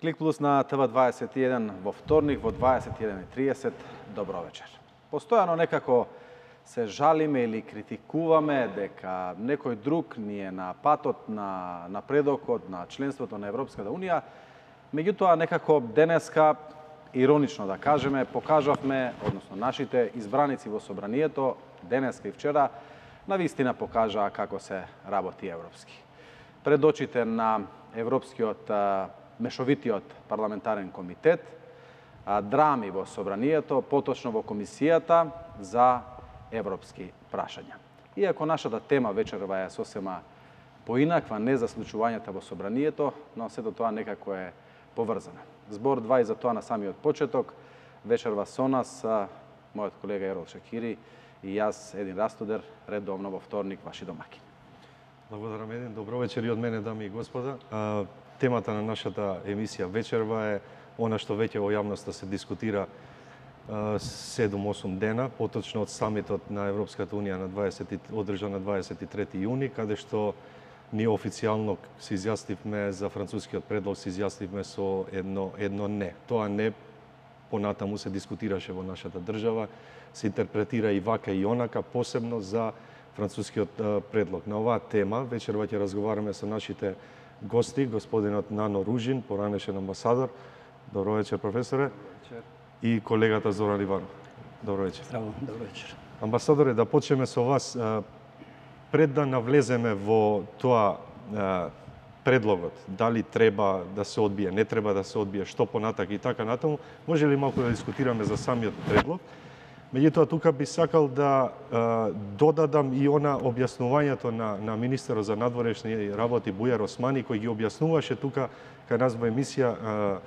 Клик Плюс на ТВ21 во вторник во 21:30. Добро вечер. Постојано некако се жалиме или критикуваме дека некој друг ни е на патот на напредокот на членството на Европската Унија. Меѓутоа некако денеска, иронично да кажеме, покажавме, односно нашите избраници во собранието денеска и вчера навистина покажаа како се работи европски. Пред очите на Европскиот мешовитиот парламентарен комитет, драми во собранието, поточно во комисијата за европски прашања. Иако нашата тема вечерва е сосема поинаква, не за случувањата во собранието, но сето тоа некако е поврзано. Збор 2 и за тоа на самиот почеток, вечерва со нас мојот колега Ерол Шекири и јас, Един Растодер, редовно во вторник, ваши домаќини. Благодарам, Един. Добро вечер и од мене, дами и господа. Темата на нашата емисија вечерва е она што веќе во јавноста се дискутира 7-8 дена, поточно од самитот на Европската Унија одржан на 23 јуни, каде што ние официјално се изјаснивме за францускиот предлог, се изјаснивме со едно не. Тоа не понатаму се дискутираше во нашата држава, се интерпретира и вака и онака, посебно за францускиот предлог. На оваа тема вечерва ќе разговараме со нашите гости, господинот Нано Ружин, поранешен амбасадор. Добро вечер, професоре. Добро вечер. И колегата Зоран Иванов. Добро вечер. Здраво, добро вечер. Амбасадоре, да почнеме со вас. Пред да навлеземе во тоа предлогот, дали треба да се одбие, не треба да се одбие, што понатак и така натаму, може ли малку да дискутираме за самиот предлог? Меѓутоа, тука би сакал да додадам и она објаснувањето на министерот за надворешни работи Бујар Османи, кој ги објаснуваше тука кај нас во емисија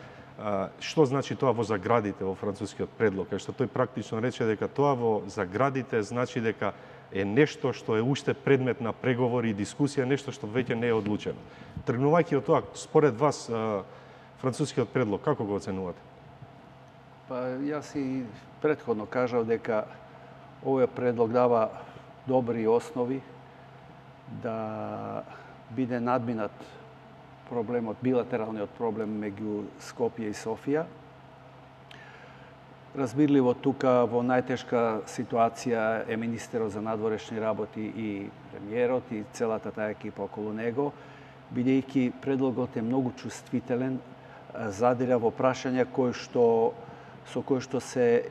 што значи тоа во заградите во францускиот предлог, кај што тој практично рече дека тоа во заградите значи дека е нешто што е уште предмет на преговори и дискусија, нешто што веќе не е одлучено. Тргнувајќи од тоа, според вас, францускиот предлог, како го оценувате? Па јас и претходно кажав дека овој предлог дава добри основи да биде надминат проблемот, билатералниот проблем меѓу Скопје и Софија. Разбирливо тука во најтешка ситуација е министерот за надворешни работи и премиерот и целата таа екипа околу него, бидејќи предлогот е многу чувствителен, задира во прашања со кои што се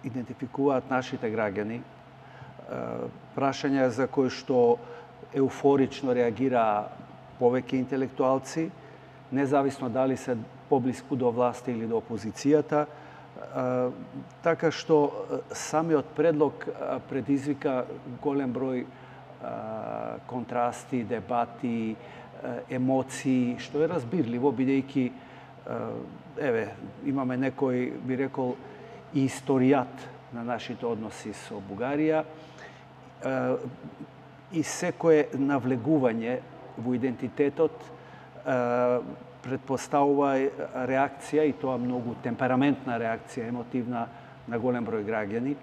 идентификуваат нашите граѓани, прашања за кои што еуфорично реагираа повеќе интелектуалци, независно дали се поблиску до власти или до опозицијата, така што самиот предлог предизвика голем број контрасти, дебати, емоции, што е разбирливо, бидејќи имаме некој, би рекол, и историјат на нашите односи со Бугарија и секое навлегување во идентитетот предпоставува реакција, и тоа многу темпераментна реакција, емотивна, на голем број граѓани.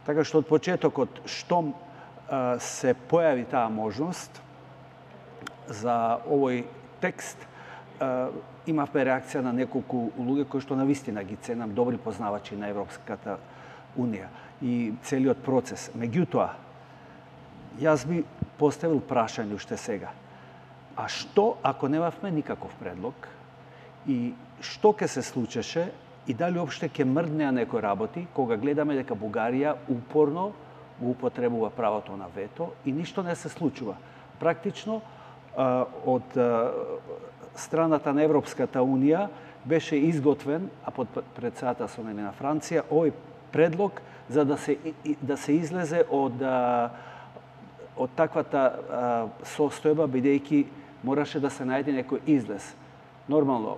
Така што од почетокот, штом се појави таа можност за овој текст, имавме реакција на неколку луѓе кои што навистина ги ценам, добри познавачи на Европската Унија и целиот процес. Меѓутоа, јас би поставил прашање уште сега. А што ако немавме никаков предлог и што ќе се случеше и дали уопште ќе мрднеа некои работи кога гледаме дека Бугарија упорно го употребува правото на вето и ништо не се случува. Практично од страната на Европската Унија беше изготвен, а под председателството на Франција, овој предлог за да се излезе од таквата состојба, бидејќи мораше да се најде некој излез. Нормално,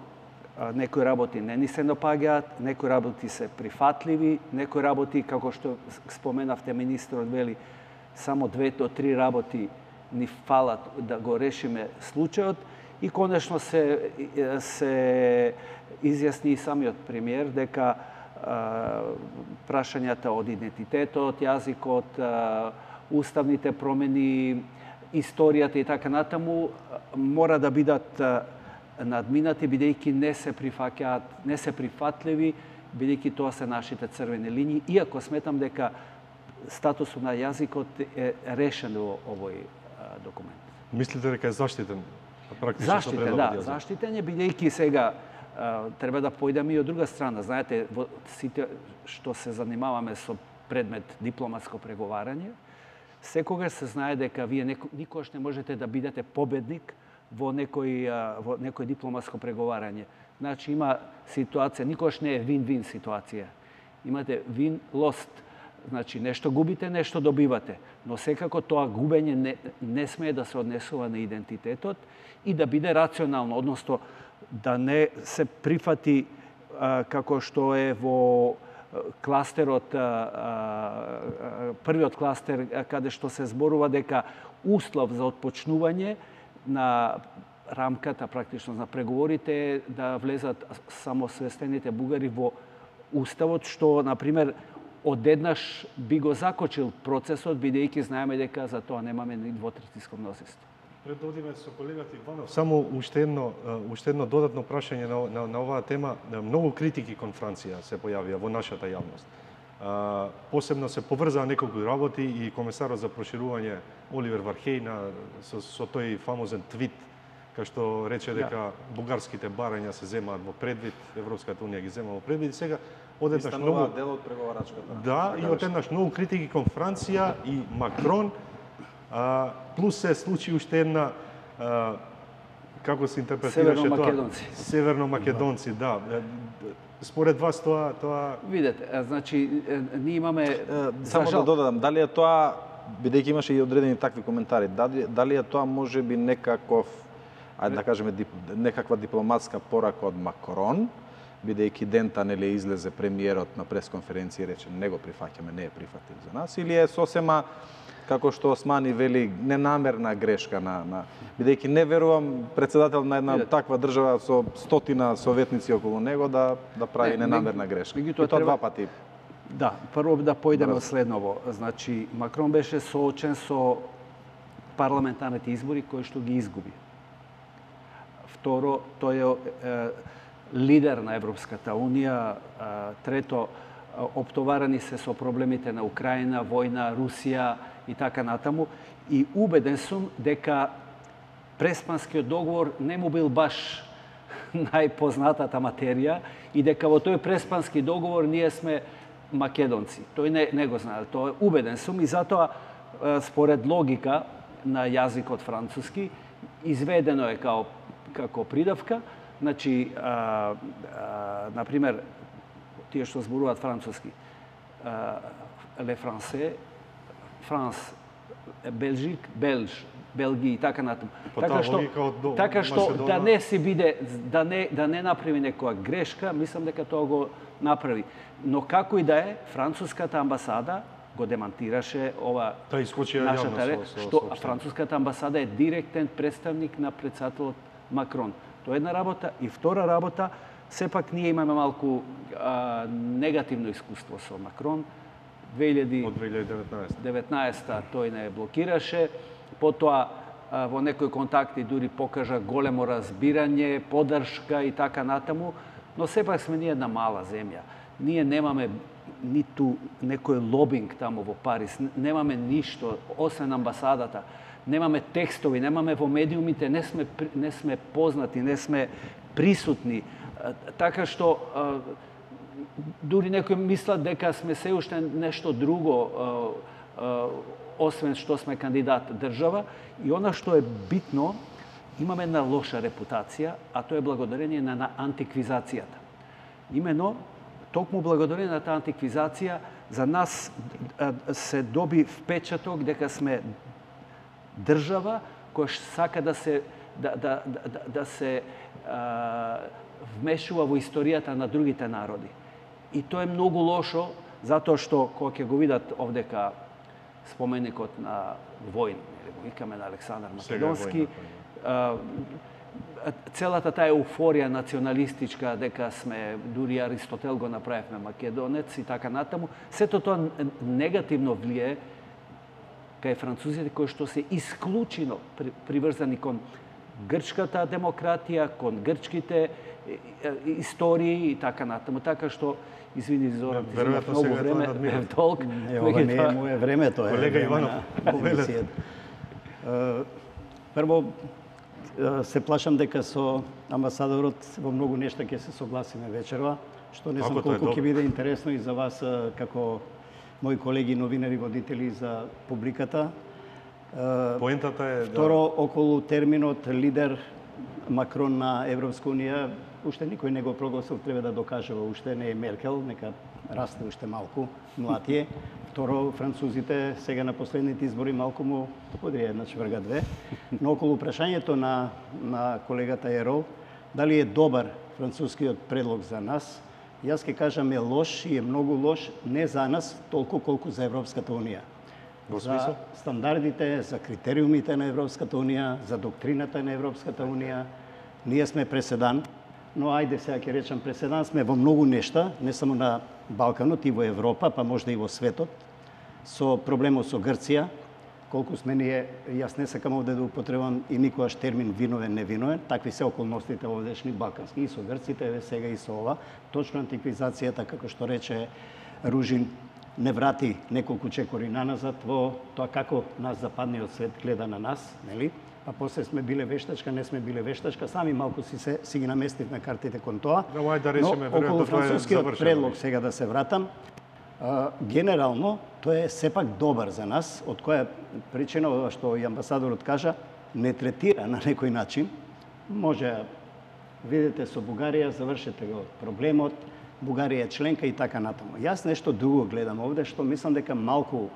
некои работи не ни се допаѓаат, некои работи се прифатливи, некои работи, како што споменавте, министерот вели, само 2 до 3 работи ни фалат да го решиме случајот и конечно се изјасни и самиот премиер дека прашањата од идентитетот, јазикот, уставните промени историјата и така натаму мора да бидат надминати, бидејќи не се прифатливи, бидејќи тоа се нашите црвени линии, иако сметам дека статусот на јазикот е решен во овој документ. Мислите дека е заштитен? Заштитен, да, заштитен е, бидејќи сега треба да појдеме и од друга страна. Знаете, во сите што се занимаваме со предмет дипломатско преговарање, секогаш се знае дека вие никогаш не можете да бидете победник во некој дипломатско преговарање. Значи има ситуација, никогаш не е вин-вин ситуација. Имате вин-лост. Значи нешто губите, нешто добивате. Но секако тоа губење не смее да се однесува на идентитетот и да биде рационално, односно да не се прифати како што е во кластерот, првиот кластер, каде што се зборува дека услов за отпочнување на рамката практично на преговорите е да влезат самосвестените бугари во уставот, што, например, одеднаш би го закочил процесот, бидејќи знаеме дека за тоа немаме ни двотретинско мнозинство. Пред да одиме со колегата Иванов, само уште едно додатно прашање на оваа тема. Многу критики кон Франција се појавија во нашата јавност. Посебно се поврзаа неколку работи и комесарот за проширување Оливер Вархеј со тој фамозен твит, кај што рече дека бугарските барања се земаат во предвид, Европската унија ги зема во предвид. И сега одеднаш многу дел од преговарачката. Да, и одеднаш многу критики кон Франција и Макрон. Плюс се случи уште една, како се интерпретираше тоа? Северно-македонци, да. Според вас тоа... Видете, значи, ние имаме... Само да додадам, дали е тоа, бидејќи имаше и одредени такви коментари, дали е тоа може би некаков, ајде да кажеме, некаква дипломатска порака од Макрон, бидејќи дента нели излезе премиерот на пресконференција и рече не го прифаќаме, не е прифатив за нас, или е сосема како што Османи вели, ненамерна грешка бидејќи не верувам председател на една таква држава со 100 советници околу него да прави ненамерна грешка. И тоа два пати. Да, прво да појдеме од следново. Значи, Макрон беше соочен со парламентарните избори кои што ги изгуби. Второ, тој е лидер на Европската унија. Трето, оптоварани се со проблемите на Украина, војна, Русија и така натаму. И убеден сум дека Преспанскиот договор не му бил баш најпознатата материја и дека во тој Преспански договор ние сме македонци. Тој не го знае. Тоа убеден сум и затоа според логика на јазикот француски изведено е како придавка. Значи, например, тие што зборуваат француски, ле франсе, Франс, Белжик, Белгија и така натаму. Така што да не си биде, да не направи некоја грешка, мислам дека тоа го направи. Но како и да е, француската амбасада го демантираше ова нашата реч, што француската амбасада е директен представник на председателот Макрон. Тоа е една работа. И втора работа, сепак ние имаме малку негативно искуство со Макрон. 2019 тој не блокираше, потоа во некои контакти дури покажа големо разбирање, поддршка и така натаму, но сепак сме ние една мала земја. Ние немаме ниту некој лобинг таму во Париз, немаме ништо, освен амбасадата, немаме текстови, немаме во медиумите, не сме познати, не сме присутни, така што дури некои мислат дека сме се уште нешто друго, освен што сме кандидат држава. И она што е битно, имаме една лоша репутација, а тоа е благодарение на антиквизацијата. Имено, токму благодарение на таа антиквизација, за нас се доби впечаток дека сме држава која сака да се вмешува во историјата на другите народи. И тоа е многу лошо, затоа што, кога ќе го видат овдека споменикот на Војн, или го викаме на Александар Македонски, целата таа еуфорија националистичка, дека сме, дури Аристотел го направивме македонец и така натаму, сето тоа негативно влие кај французите кои што се исклучено приврзани кон грчката демократија, кон грчките истории и така натаму. Така што, извини, Зоран, ти земав многу време, толк. Ова не е моје време, тоа е колега време Иванов, на прво, се плашам дека со амбасадорот во многу нешта ќе се согласиме вечерва, што не знам колку ќе биде интересно и за вас како мои колеги новинари, водители за публиката. Поентата е второ, околу терминот лидер Макрон на Европска унија, уште никој не го прогласил, треба да докажува, уште не е Меркел, нека расте уште малку, млад е. Второ, французите сега на последните избори малку му подрија една чврга две. Но околу прашањето на колегата Ерол, дали е добар францускиот предлог за нас, јас ќе кажам е лош и е многу лош не за нас толку колку за Европската унија. За стандардите, за критериумите на Европската унија, за доктрината на Европската унија, ние сме преседан, но ајде сега ќе речам преседан сме во многу нешта, не само на Балканот и во Европа, па можда и во светот, со проблемот со Грција, колку сме ние, јас не сакам овде да употребам и никогаш термин виновен, невиновен, такви се околностите овдешни балкански, и со грците, еве сега и со ова, точно антиквизацијата, како што рече Ружин, не врати неколку чекори наназад во тоа како нас западниот свет гледа на нас, нели? А после сме биле вештачка, не сме биле вештачка, сами малку си ги наместивме картите кон тоа. Но околу францускиот предлог сега да се вратам, генерално тоа е сепак добар за нас, од која причина што и амбасадорот кажа, не третира на некој начин. Може видите со Бугарија, завршете го проблемот, Бугарија е членка и така натаму. Јас нешто друго гледам овде, што мислам дека малку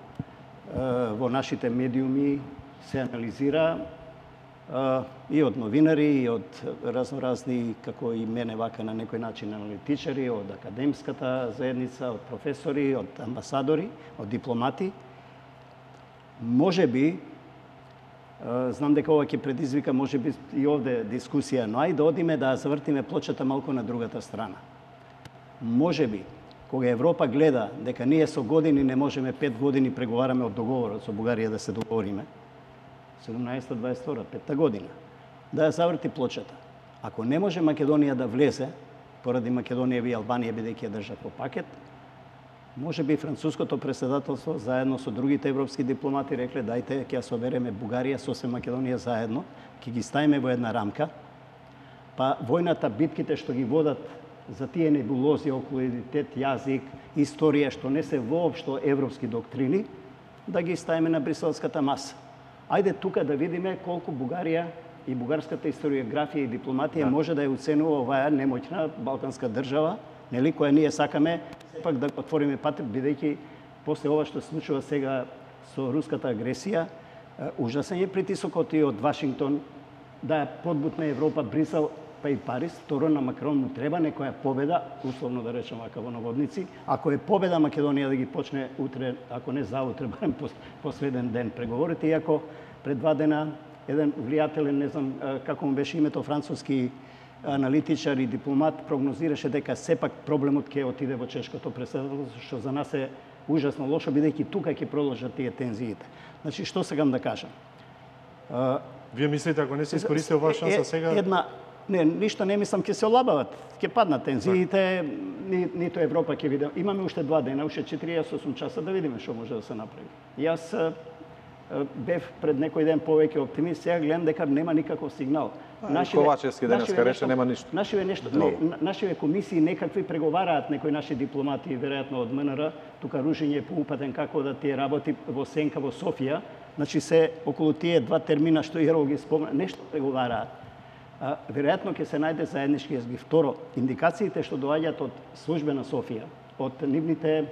во нашите медиуми се анализира и од новинари, и од разноразни, како и мене вака на некој начин аналитичари, од академската заедница, од професори, од амбасадори, од дипломати. Може би, знам дека ова ќе предизвика, може би и овде дискусија, но ајде да одиме да завртиме плочата малку на другата страна. Може би, кога Европа гледа дека ние со години не можеме 5 години преговараме од договорот со Бугарија да се договориме, 17-22, 5-та година, да ја заврти плочата. Ако не може Македонија да влезе, поради Македонија и Албанија бидејќи ја држат по пакет, може би француското преседателство заедно со другите европски дипломати рекле дајте ќе ја собереме Бугарија со Македонија заедно, ќе ги ставиме во една рамка, па војната, битките што ги водат за тие небулози околу идентитет, јазик, историја, што не се воопшто европски доктрини, да ги ставиме на бриселската маса. Ајде тука да видиме колку Бугарија и бугарската историографија и дипломатија може да ја оценува оваа немоќна балканска држава, нели, која ние сакаме сепак да отвориме пат, бидејќи после ова што се случува сега со руската агресија, ужасен е притисокот и од Вашингтон да подбутне Европа, Брисел, па и Париз. Второ, на Макрон му треба некоја победа, условно да речем вака во наводници. Ако е победа Македонија да ги почне утре, ако не заутре, барем последен ден преговорите, иако пред 2 дена еден влијателен, не знам како му беше името, француски аналитичар и дипломат, прогнозираше дека сепак проблемот ќе отиде во чешкото преседателство, што за нас е ужасно лошо, бидејќи тука ќе продолжат тие тензиите. Значи, што сакам да кажам? Вие мислите, ако не се искористи оваа шанса сега? Не, ништо не мислам, ќе се олабават, ќе паднат тензиите, нито Европа ќе види. Имаме уште 2 дена, уште 48 часа да видиме што може да се направи. Јас бев пред некој ден повеќе оптимист, сега гледам дека нема никаков сигнал. Ковачевски денеска рече нема ништо. Нашиве комисии некакви преговараат некои наши дипломати, веројатно од МНР, тука Ружин е поупатен како да тие работи во сенка во Софија, значи се околу тие 2 термина што Ерол ги спомна, нешто преговараат. Веројатно ќе се најде заеднички јазик. Второ, индикациите што доаѓаат од службена Софија, од нивните,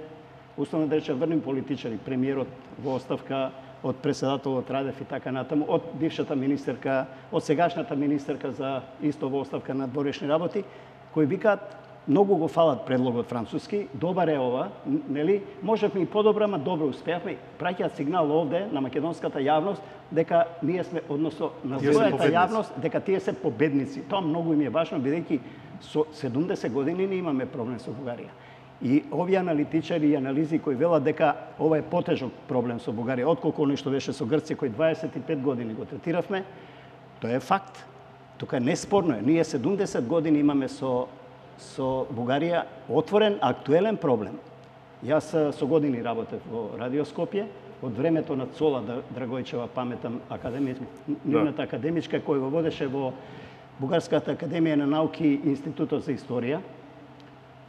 условно да речем, врни политичари, премиерот во оставка, од преседателот Радев и така натаму, од бившата министерка, од сегашната министерка за исто во оставка на дворешни работи, кои викаат многу го фалат предлогот француски, добар е ова, нели? Можевме и подобро, ама добро успеавме. Праќаат сигнал овде на македонската јавност дека ние сме, односно на својата јавност, дека тие се победници. Тоа многу им е важно, бидејќи со 70 години не имаме проблем со Бугарија. И овие аналитичари и анализи кои велат дека ова е потежок проблем со Бугарија, отколку оној што беше со Грција, кој 25 години го третиравме, тоа е факт. Тука неспорно е. Ние 70 години имаме со Бугарија отворен, актуелен проблем. Јас со години работев во Радио Скопје, од времето на Цола Драгојчева, паметам, нивната академичка, кој го водеше во Бугарската академија на науки и Институтот за историја,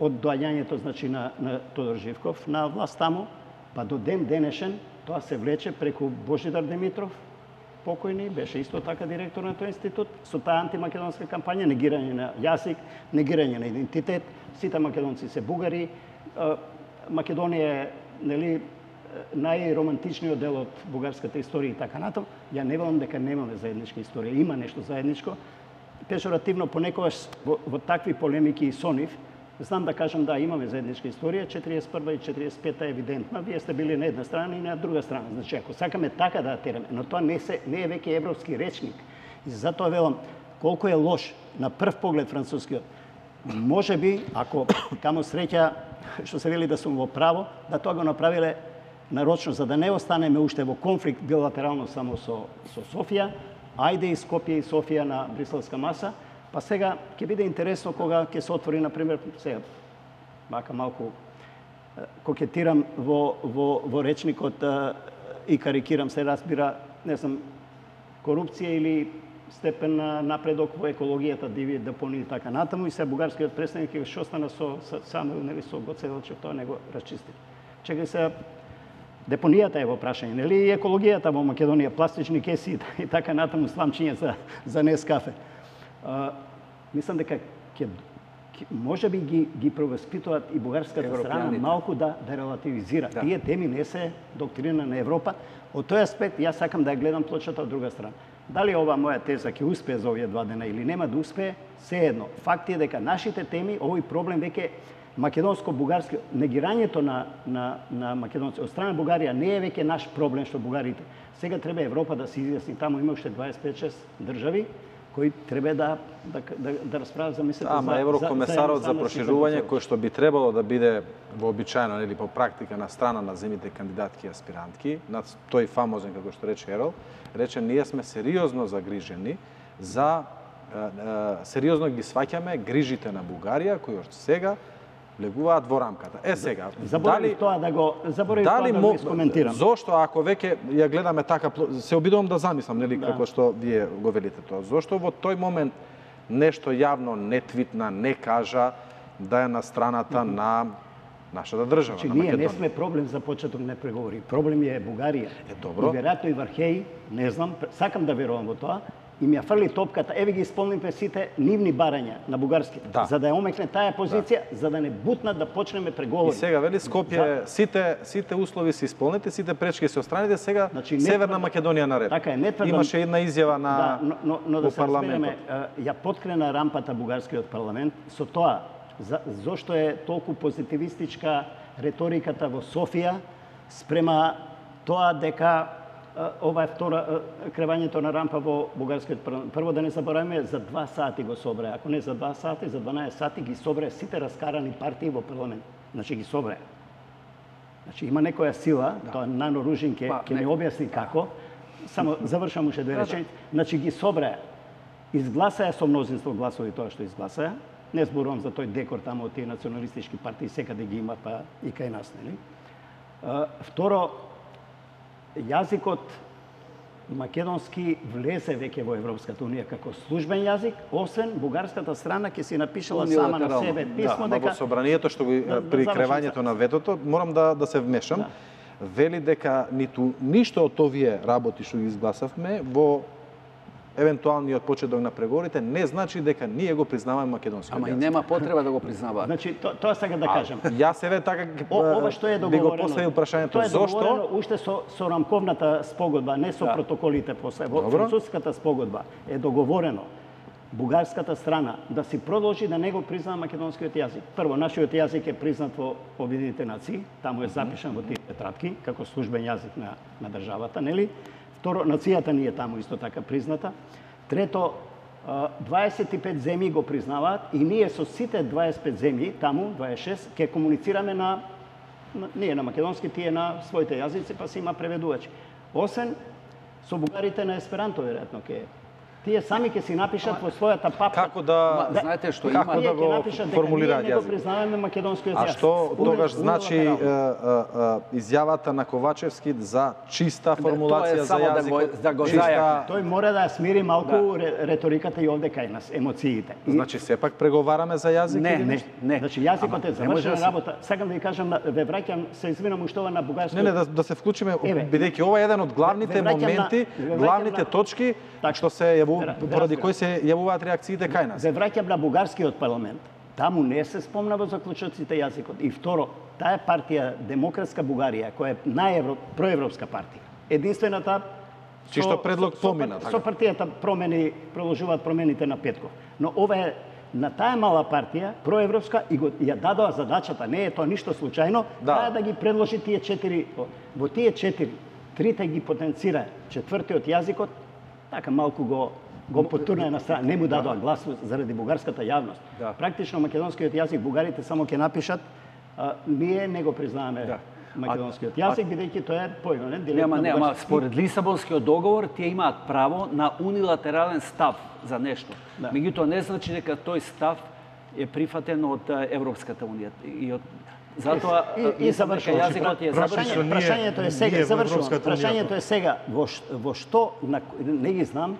од доаѓањето, значи, на Тодор Живков на власт таму, па до ден денешен, тоа се влече преку Божидар Димитров, покојни, беше исто така директор на тој институт, со таа антимакедонска кампања, негирање на јазик, негирање на идентитет, сите македонци се бугари, Македонија е, нели, најромантичниот дел од бугарската историја и така натаму. Ја не велам дека немаме заедничка историја, има нешто заедничко. Пежоративно понекогаш во такви полемики и со нив, знам да кажам да имаме заедничка историја, 41 и 45 е евидентна, вие сте били на една страна и на друга страна. Значи, ако сакаме така да тераме, но тоа не е веќе европски речник. И затоа велам, колку е лош на прв поглед францускиот, може би, ако камо среќа, што се вели да сум во право, да тоа го направиле нарочно, за да не останеме уште во конфликт билатерално само со Софија, ајде и Скопје и Софија на бриселска маса, па сега ќе биде интересно кога ќе се отвори, например, сега, мака малку кокетирам во речникот и карикирам, се разбира, не знам, корупција или степен на напредок во екологијата, диви депонии и така натаму, и се бугарскиот представник ќе остана само, нели, со Гоцеделчев, тоа не го расчисти. Чекај се, депонијата е во прашање, нели, и екологијата во Македонија, пластични кеси и така натаму, сламчиња за Нескафе. Мислам дека може би ги провоспитуваат и бугарската страна малку да релативизира. Да. Тие теми не се доктрина на Европа. Од тој аспект, јас сакам да ја гледам плочата од друга страна. Дали ова моја теза ќе успее за овие 2 дена или нема да успее, се едно. Факт е дека нашите теми, овој проблем веќе македонско-бугарски, негирањето на македонци од страна Бугарија не е веќе наш проблем што бугарите. Сега треба Европа да се изјасни. Таму има уште 25-6 држави кои треба да расправат за мислите за... Ама еврокомесарот за проширување, кој што би требало да биде вообичаено или по практика на страна на земите кандидатки и аспирантки, на тој фамозен, како што рече Ерол, рече ние сме сериозно загрижени за сериозно ги сваќаме грижите на Бугарија кои од сега влегуваат во рамката. Сега, заборав тоа да го искоментирам. Зошто ако веќе ја гледаме така, се обидувам да замислам, нели, како што вие го велите тоа. Зошто во тој момент нешто јавно не твитна, не кажа да е на страната на нашата држава, на Македонија? Ние не сме проблем за почеток на преговори. Проблем е Бугарија. Добро. И веројатно и Вархеј, не знам, сакам да верувам во тоа, и ми ја фрли топката, еве ги исполнивме сите нивни барања на бугарски, за да ја омекне таа позиција, за да не бутнат да почнеме преговори. И сега вели Скопје, сите услови се исполнети, сите пречки се отстраните, сега Северна Македонија наред. Така е, не тврдам. Имаше една изјава на но да се разбереме, ја поткрена рампата бугарскиот парламент со тоа зошто е толку позитивистичка реториката во Софија спрема тоа дека ова е втора кревањето на рампа во бугарскиот парламент. Прво да не забораваме, за 2 сати го собраа, ако не за 2 сати, за 12 сати ги собраа сите раскарани партии во парламент. Значи ги собраа. Значи има некоја сила, тоа Нано Ружин ќе ни објасни како. Само завршам уште 2 реченици. Значи ги собраа. Изгласаа со мнозинство гласови тоа што изгласаа. Не зборувам за тој декор таму од тие националистички партии, секаде ги има, па и кај нас, нели? Второ, јазикот македонски влезе веќе во Европската унија како службен јазик, освен бугарската страна ќе си напишала сама на себе писмо дека во собранието што при кревањето на ветото, морам да се вмешам, вели дека ништо од овие работи што ги изгласавме во евентуалниот почеток на преговорите не значи дека ние го признаваме македонскиот јазик. Ама и нема потреба да го признаваат. Значи тоа сега да кажам. Јас еве така ова што е договорено. Би го поставил прашањето зошто уште со рамковната спогодба, не со протоколите после. Во француската спогодба е договорено бугарската страна да си продолжи да не го признава македонскиот јазик. Прво, нашиот јазик е признат во Обединетите нации, таму е запишан во тие тетрадки како службен јазик на државата, нели? Второ, нацијата ни е таму исто така призната. Трето, 25 земји го признаваат и ние со сите 25 земји, таму 26, ќе комуницираме ние на македонски, тие на своите јазици, па си има преведувачи. Освен со бугарите на есперанто, веројатно ќе тие сами ќе си напишат во својата папка. Како да знаете што како да го формулираат јазик? Ние не го јазик? признаваме македонскиот јазик. А што тогаш значи изјавата на Ковачевски за чиста формулација за јазикот? Да го Тој мора да смири малку реториката и овде кај нас, емоциите. Значи сепак преговараме за јазик или Не. Значи јазикот е завршена работа. Сакам да ви кажам, ве враќам, се извинам уште ова на бугарски. Не, да се вклучиме, бидејќи ова е еден од главните моменти, главните точки што се поради кои се јавуваат реакциите кај нас. Се враќам на бугарскиот парламент. Таму не се спомна во заклучоците јазикот. И второ, таа партија Демократска Бугарија, која е проевропска партија, единствената Чишто предлог помина. Со партијата продолжуваат промените на Петков. Но ова е на таа мала партија, проевропска, и ја дадоа задачата, не е тоа ништо случајно, да ги предложи тие 4. Во тие 4, трите ги потенцира, четвртиот јазикот, така малку го потурна на страна, не му дадоа глас заради бугарската јавност. Практично македонскиот јазик бугарите само ќе напишат, ние не го признаваме македонскиот јазик, бидејќи тоа е поименен директно. Нема, според Лисабонскиот договор тие имаат право на унилатерален став за нешто. Меѓутоа не значи дека тој став е прифатен од Европската унија и од затоа и завршува јазикот е завршен. Прашањето е сега, завршувам. Прашањето е сега во што не ги знам,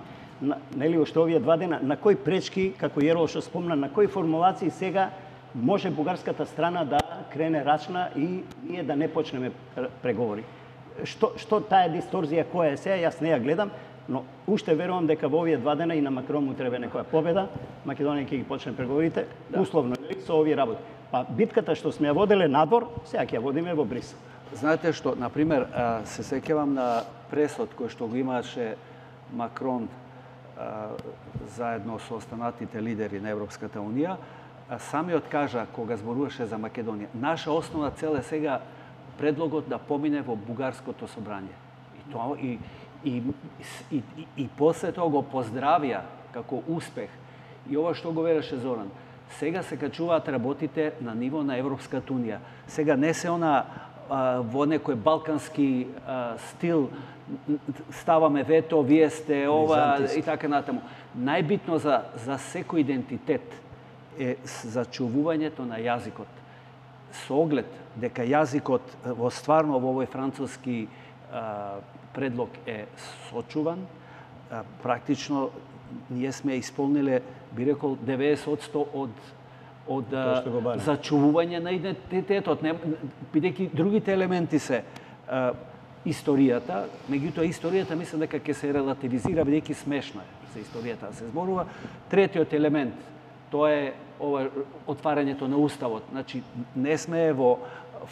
нели уште овие 2 дена, на кои пречки, како Јерол што спомна, на кои формулации сега може бугарската страна да крене рачна и ние да не почнеме преговори. Што таа дисторзија која е сега, јас не ја гледам, но уште верувам дека во овие 2 дена и на Макрон му треба некоја победа, Македонија ќе ги почне преговорите, условно со овие работи. Па битката што сме ја воделе надвор, сега ќе ја водиме во Брисел. Знаете што, на пример, се сеќавам на пресод кој што го имаше Макрон заедно со останатите лидери на Европската унија, самиот кажа кога зборуваше за Македонија, наша основна цел е сега предлогот да помине во бугарското собрање. И после тоа го поздравија како успех. И ова што го вереше Зоран, сега се качуваат работите на ниво на Европската унија. Сега не се она во некој балкански стил ставаме вето, вие сте ова и така натаму. Најбитно за секој идентитет е зачувувањето на јазикот. Со оглед дека јазикот во стварно во овој француски предлог е сочуван, практично ние сме исполниле, би рекол, 90% од зачувување на идентитетот, бидејќи другите елементи се историјата, меѓутоа историјата мислам дека ќе се релативизира бидејќи смешно е за историјата да се зборува. Третиот елемент, тоа е отварањето на уставот. Значи не сме во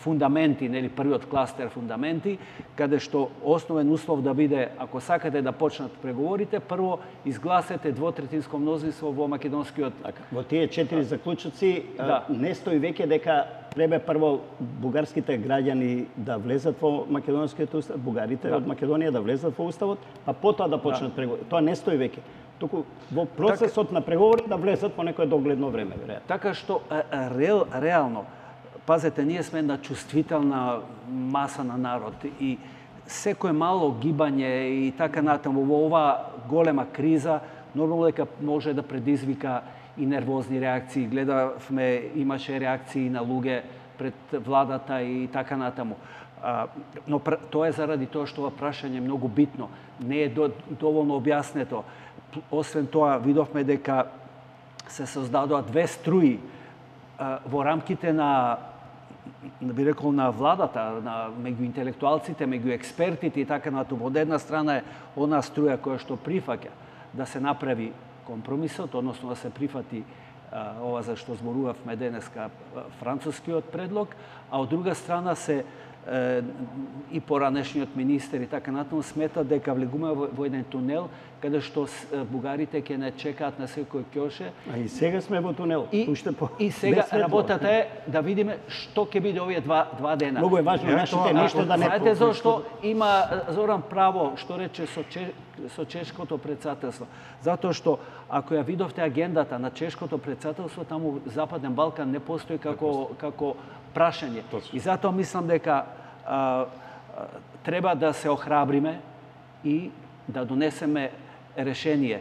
фундаменти, нели првиот кластер фундаменти, каде што основен услов да биде, ако сакате да почнат преговорите, прво изгласете двотретинско мнозинство во македонскиот. Во тие 4 заклучоци не стои веќе дека треба прво бугарските граѓани да влезат во македонскиот устав, бугарите од Македонија да влезат во уставот, а потоа да почнат преговори. Тоа не стои веќе. Туку во процесот на преговори да влезат по некое догледно време, веројатно. Така што реално, пазете, ние сме една чувствителна маса на народ и секој мало гибање и така натаму во оваа голема криза нормално дека може да предизвика и нервозни реакции. Гледавме, имаше реакции на луѓе пред владата и така натаму. Но тоа е заради тоа што ова прашање е многу битно. Не е доволно објаснето. Освен тоа, видовме дека се создадоа 2 струи во рамките на, би рекол, на владата, меѓу интелектуалците, меѓу експертите и така натаму. Од една страна е она струја која што прифаќа да се направи компромисот, односно да се прифати ова за што зборувавме денеска францускиот предлог, а од друга страна се и поранешниот министер и така натаму сметат дека влегуваме во еден тунел каде што бугарите ќе не чекаат на секој ќоше. А и сега сме во тунел. И сега работата е да видиме што ќе биде овие два дена. Многу е важно нашите ништо да не... Знаете зашто има Зоран право што рече со чешкото председателство? Затоа што ако ја видовте агендата на чешкото председателство, таму Западен Балкан не постои како прашање. И затоа мислам дека треба да се охрабриме и да донесеме решение.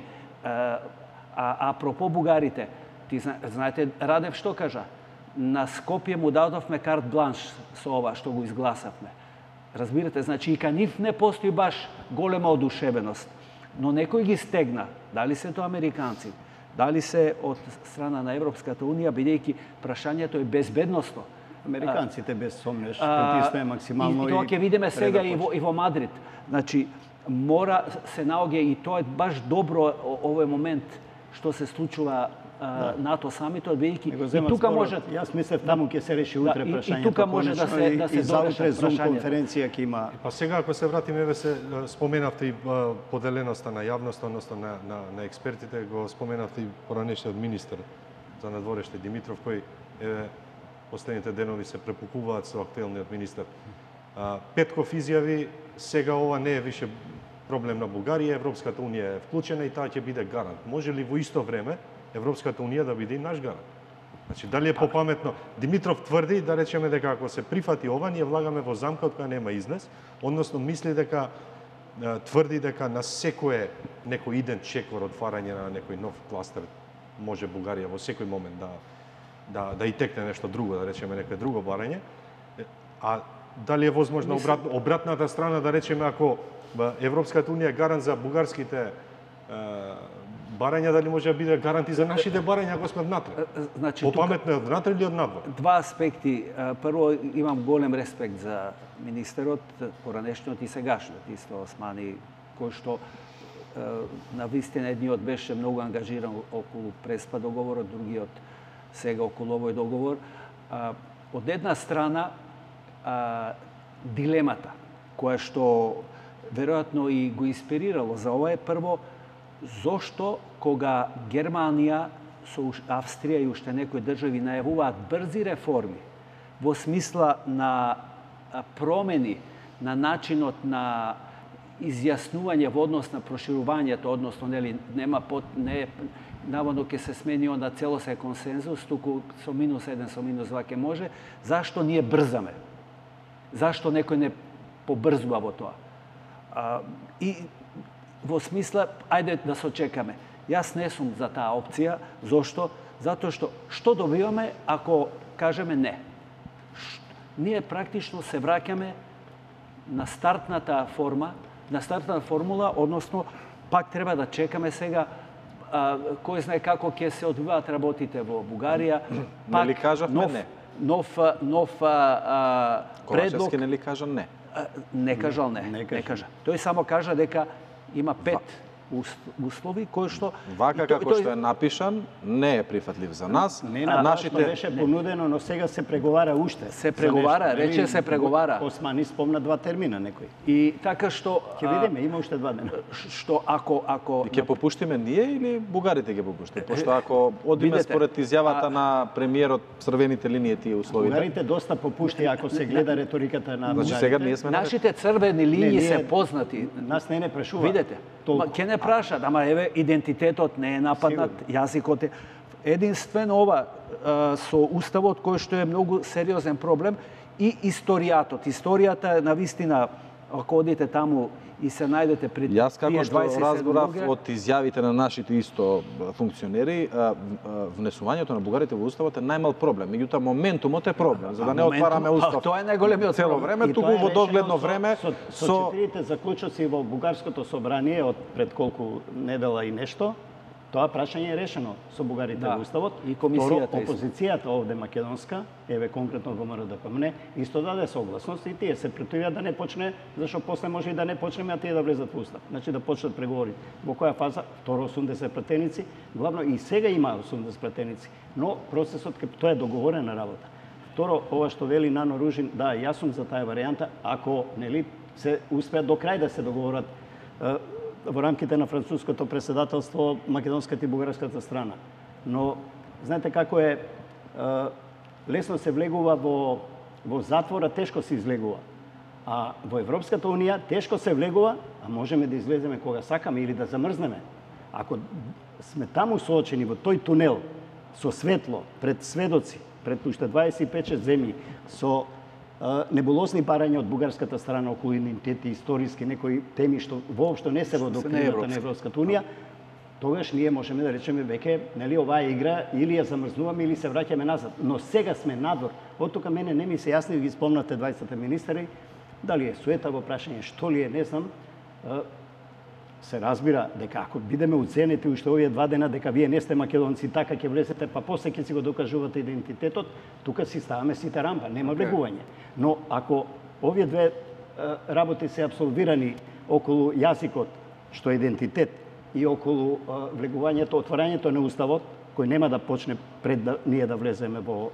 Апропо бугарите, ти знаете Радев што кажа? На Скопје му дадовме карт бланш со ова што го изгласавме. Разбирате, значи и кај нив не постои баш голема одушевеност, но некој ги стегна. Дали се тоа американци, дали се од страна на Европската унија, бидејќи прашањето е безбедносно. Американците без сомнеш притиснаe максимално и тоа ќе видиме сега и во Мадрид. Значи мора се наоѓа и тоа е баш добро овој момент што се случува НАТО самитот, бидејќи и тука може... Јас мислев таму ќе се реши утре прашањето. И тука може да се дорешат Зум конференција ќе има. Па сега ако се вратиме, се споменавте и поделеноста на јавноста, односно на експертите, го споменавте и поранешниот министер за надвореште Димитров, кој последните денови се препукуваат со актуелниот министер. Петков изјави, сега ова не е више проблем на Бугарија, Европската унија е вклучена и таа ќе биде гарант. Може ли во исто време Европската унија да биде и наш гарант? Значи, дали е попаметно? Димитров тврди, да речеме дека ако се прифати ова, ние влагаме во замка од која нема излез, односно мисли дека тврди дека на секое некој иден чекор отварање на некој нов кластер може Бугарија во секој момент да и текне нешто друго, да речеме некој друго барање. А дали е возможно обратната страна, да речеме, ако Европската унија е гарант за бугарските барања, дали може да биде гарант и за нашите барања ако сме внатре? Значи, попаметно е однатре или однадвор? Два аспекти. Прво, имам голем респект за министерот, поранешниот и сегашниот, исто Османи, кој што на вистина едниот беше многу ангажиран околу Преспа договорот, другиот сега околу овој договор. Од една страна, дилемата, која што веројатно и го инспирирало за ова е прво, зошто кога Германија со Австрија и уште некои држави најавуваат брзи реформи во смисла на промени на начинот на изјаснување во однос на проширувањето, односно нели не наводно ќе се смени onda цело се консензус, туку со -1, со -2 ќе може, зашто ние брзаме? Зашто некој не побрзува во тоа? И во смисла, ајде да се чекаме. Јас не сум за таа опција. Зошто? Затоа што добиваме ако кажеме не? Ние практично се враќаме на стартната формула, односно пак треба да чекаме сега кој знае како ќе се одвиваат работите во Бугарија. Нели кажавме не? Нов предлог. Ковачевски нели кажа не? Не кажал не кажа. Тој само кажа дека има 5 услови кои што вака како што е напишан не е прифатлив за нас. Нашите беше понудено, но сега се преговара уште. Се преговара, рече се преговара. Османи спомна 2 термина некој. И така што ќе видиме, има уште 2 дена. Што ако ќе попуштиме ние или бугарите ќе попуштат? Пошто ако одиме според изјавата на премиерот црвените линии тие условите. Бугарите доста попушти ако се гледа реториката на бугарите. Значи сега ние сме нашите црвени линии се познати. Нас не прашува. Видете. Ќе не прашат, ама еве идентитетот не е нападнат, јазикот е единствено ова со уставот кој што е многу сериозен проблем и историјатот. Историјата на вистина, ако одите таму и се најдете пред 20-27 Јас како што разбрав од изјавите на нашите исто функционери, внесувањето на бугарите во уставот е најмал проблем. Меѓутоа моментумот е проблем, за да не отвараме устав. Тоа е најголемиот цело време, туку во догледно време со 4 заклучоци во бугарското собрание од пред колку недела и нешто. Тоа прашање е решено со бугарите во уставот и комисијата. Опозицијата овде македонска, еве конкретно во МРДПМН, исто даде согласност и тие се претивија да не почне, зашто после може и да не почнеме, а тие да влезат во устав. Значи да почнат преговори. Во која фаза? Второ 80 пратеници, главно и сега има 80 пратеници, но процесот тоа е договорена работа. Второ, ова што вели Нано Ружин, да, јас сум за таа варијанта, ако нели се успеат до крај да се договорат во рамките на француското претседателство македонската и бугарската страна. Но знаете како е, лесно се влегува во затвора, тешко се излегува. А во Европската унија тешко се влегува, а можеме да излеземе кога сакаме или да замрзнеме. Ако сме таму соочени во тој тунел со светло, пред сведоци, пред уште 25 земји, со небулозни барања од бугарската страна околу идентитети, историски, некои теми што воопшто не се во доктрината на Европската унија, тогаш ние можеме да речеме веќе, нели, оваа игра или ја замрзнуваме или се враќаме назад. Но сега сме надвор. Од тука мене не ми се јасни, ги спомнате 20 министри, дали е суета во прашање, што ли е, не знам. Се разбира дека ако бидеме уценети уште овие 2 дена дека вие не сте македонци, така ќе влезете, па после ќе си го докажувате идентитетот, тука си ставаме сите рампа, нема влегување. Но ако овие 2 работи се абсолвирани околу јазикот, што е идентитет, и околу влегувањето, отворањето на уставот, кој нема да почне пред да ние да влеземе во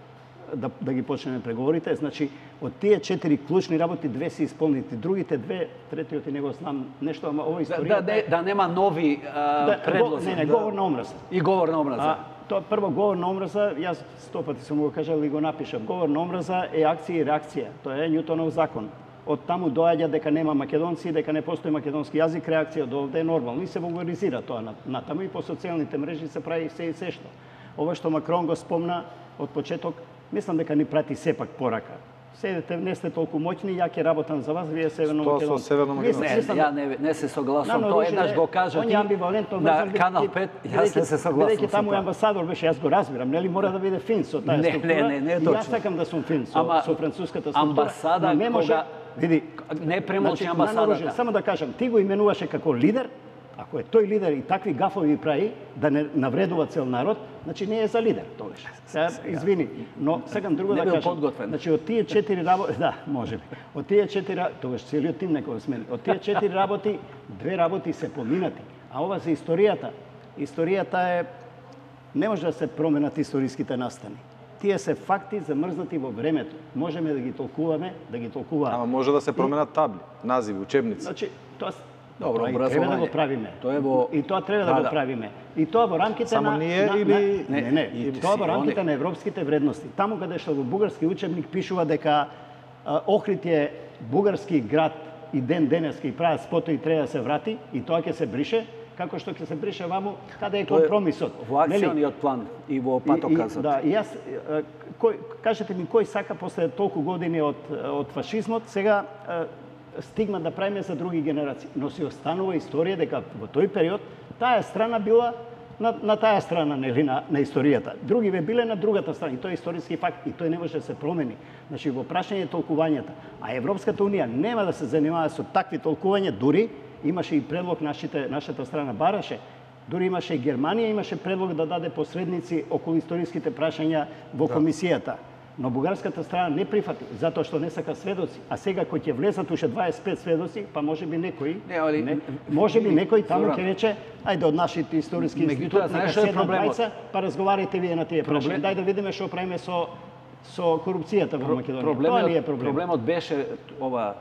да ги почнеме преговорите, значи од тие 4 клучни работи 2 се исполнити, другите 2, третиот и него знам нешто, ама ова историјата да нема нови предлози. Не, говор на омраза. И говор на омраза. Тоа прво говор на омраза, јас 100 пати сум го кажал и го напишав. Говор на омраза е акција и реакција. Тоа е Њутонов закон. Од таму доаѓа дека нема македонци, дека не постои македонски јазик, реакција од овде е нормално и се вулгаризира тоа натаму и по социјалните мрежи се прави се и се што. Ова што Макрон го спомна од почеток, мислам дека ни прати сепак порака. Седете, не сте толку моќни, ја ќе работам за вас, вие Северно Македонија. Со Северно Македонија? Не се согласувам, тоа еднаш го кажа ти на Канал 5, јас не се согласувам. Бидејќи таму амбасадор беше, јас го разбирам, нели мора да биде фин со таа структура. Не, точно. Јас сакам да сум фин со француската структура. Амбасада не може, види, не премолчи амбасадата. Само да кажам, ти го именуваше како лидер. Ако е тој лидер и такви гафови прави да не навредува цел народ, значи не е за лидер тогаш. Сега извини, но сакам друго да кажам. Значи од тие 4 работи, да, можеби. Од тие 4, тогаш целиот тим некој смени. Од тие 4 работи, 2 работи се поминати. А ова за историјата. Историјата е не може да се променат историските настани. Тие се факти замрзнати во времето. Можеме да ги толкуваме, да ги толкуваме. Ама може да се променат табли, називи, учебници. Значи, тоа добро, треба да го правиме. Тоа е во И тоа треба да го правиме. И тоа во рамките само ние или не, тоа во рамките на европските вредности. Таму каде што во бугарски учебник пишува дека Охрид е бугарски град и ден денеска и прават спото и треба да се врати и тоа ќе се брише, како што ќе се брише ваму, каде е компромисот. Во акциониот план и во патоказот. Да, и јас кажете ми кој сака после толку години од фашизмот сега стигма да правиме за други генерации. Но си останува историја дека во тој период таа страна била на таа страна, нели, на историјата. Други бе биле на другата страна. И тоа е историски факт и тој не може да се промени. Значи во прашање толкувањата. А Европската унија нема да се занимава со такви толкувања, дури имаше и предлог нашата страна бараше. Дури имаше и Германија, имаше предлог да даде посредници околу историските прашања во комисијата. Но бугарската страна не прифати, затоа што не сака сведоци. А сега кој ќе влезат уште 25 сведоци, па можеби некој, можеби некој таму ќе рече, ајде од нашите историски институти, нека седнат двајца, па разговарате вие на тие прашања. Дај да видиме што правиме со корупцијата во Македонија. Тоа ли е проблем? Проблемот беше ова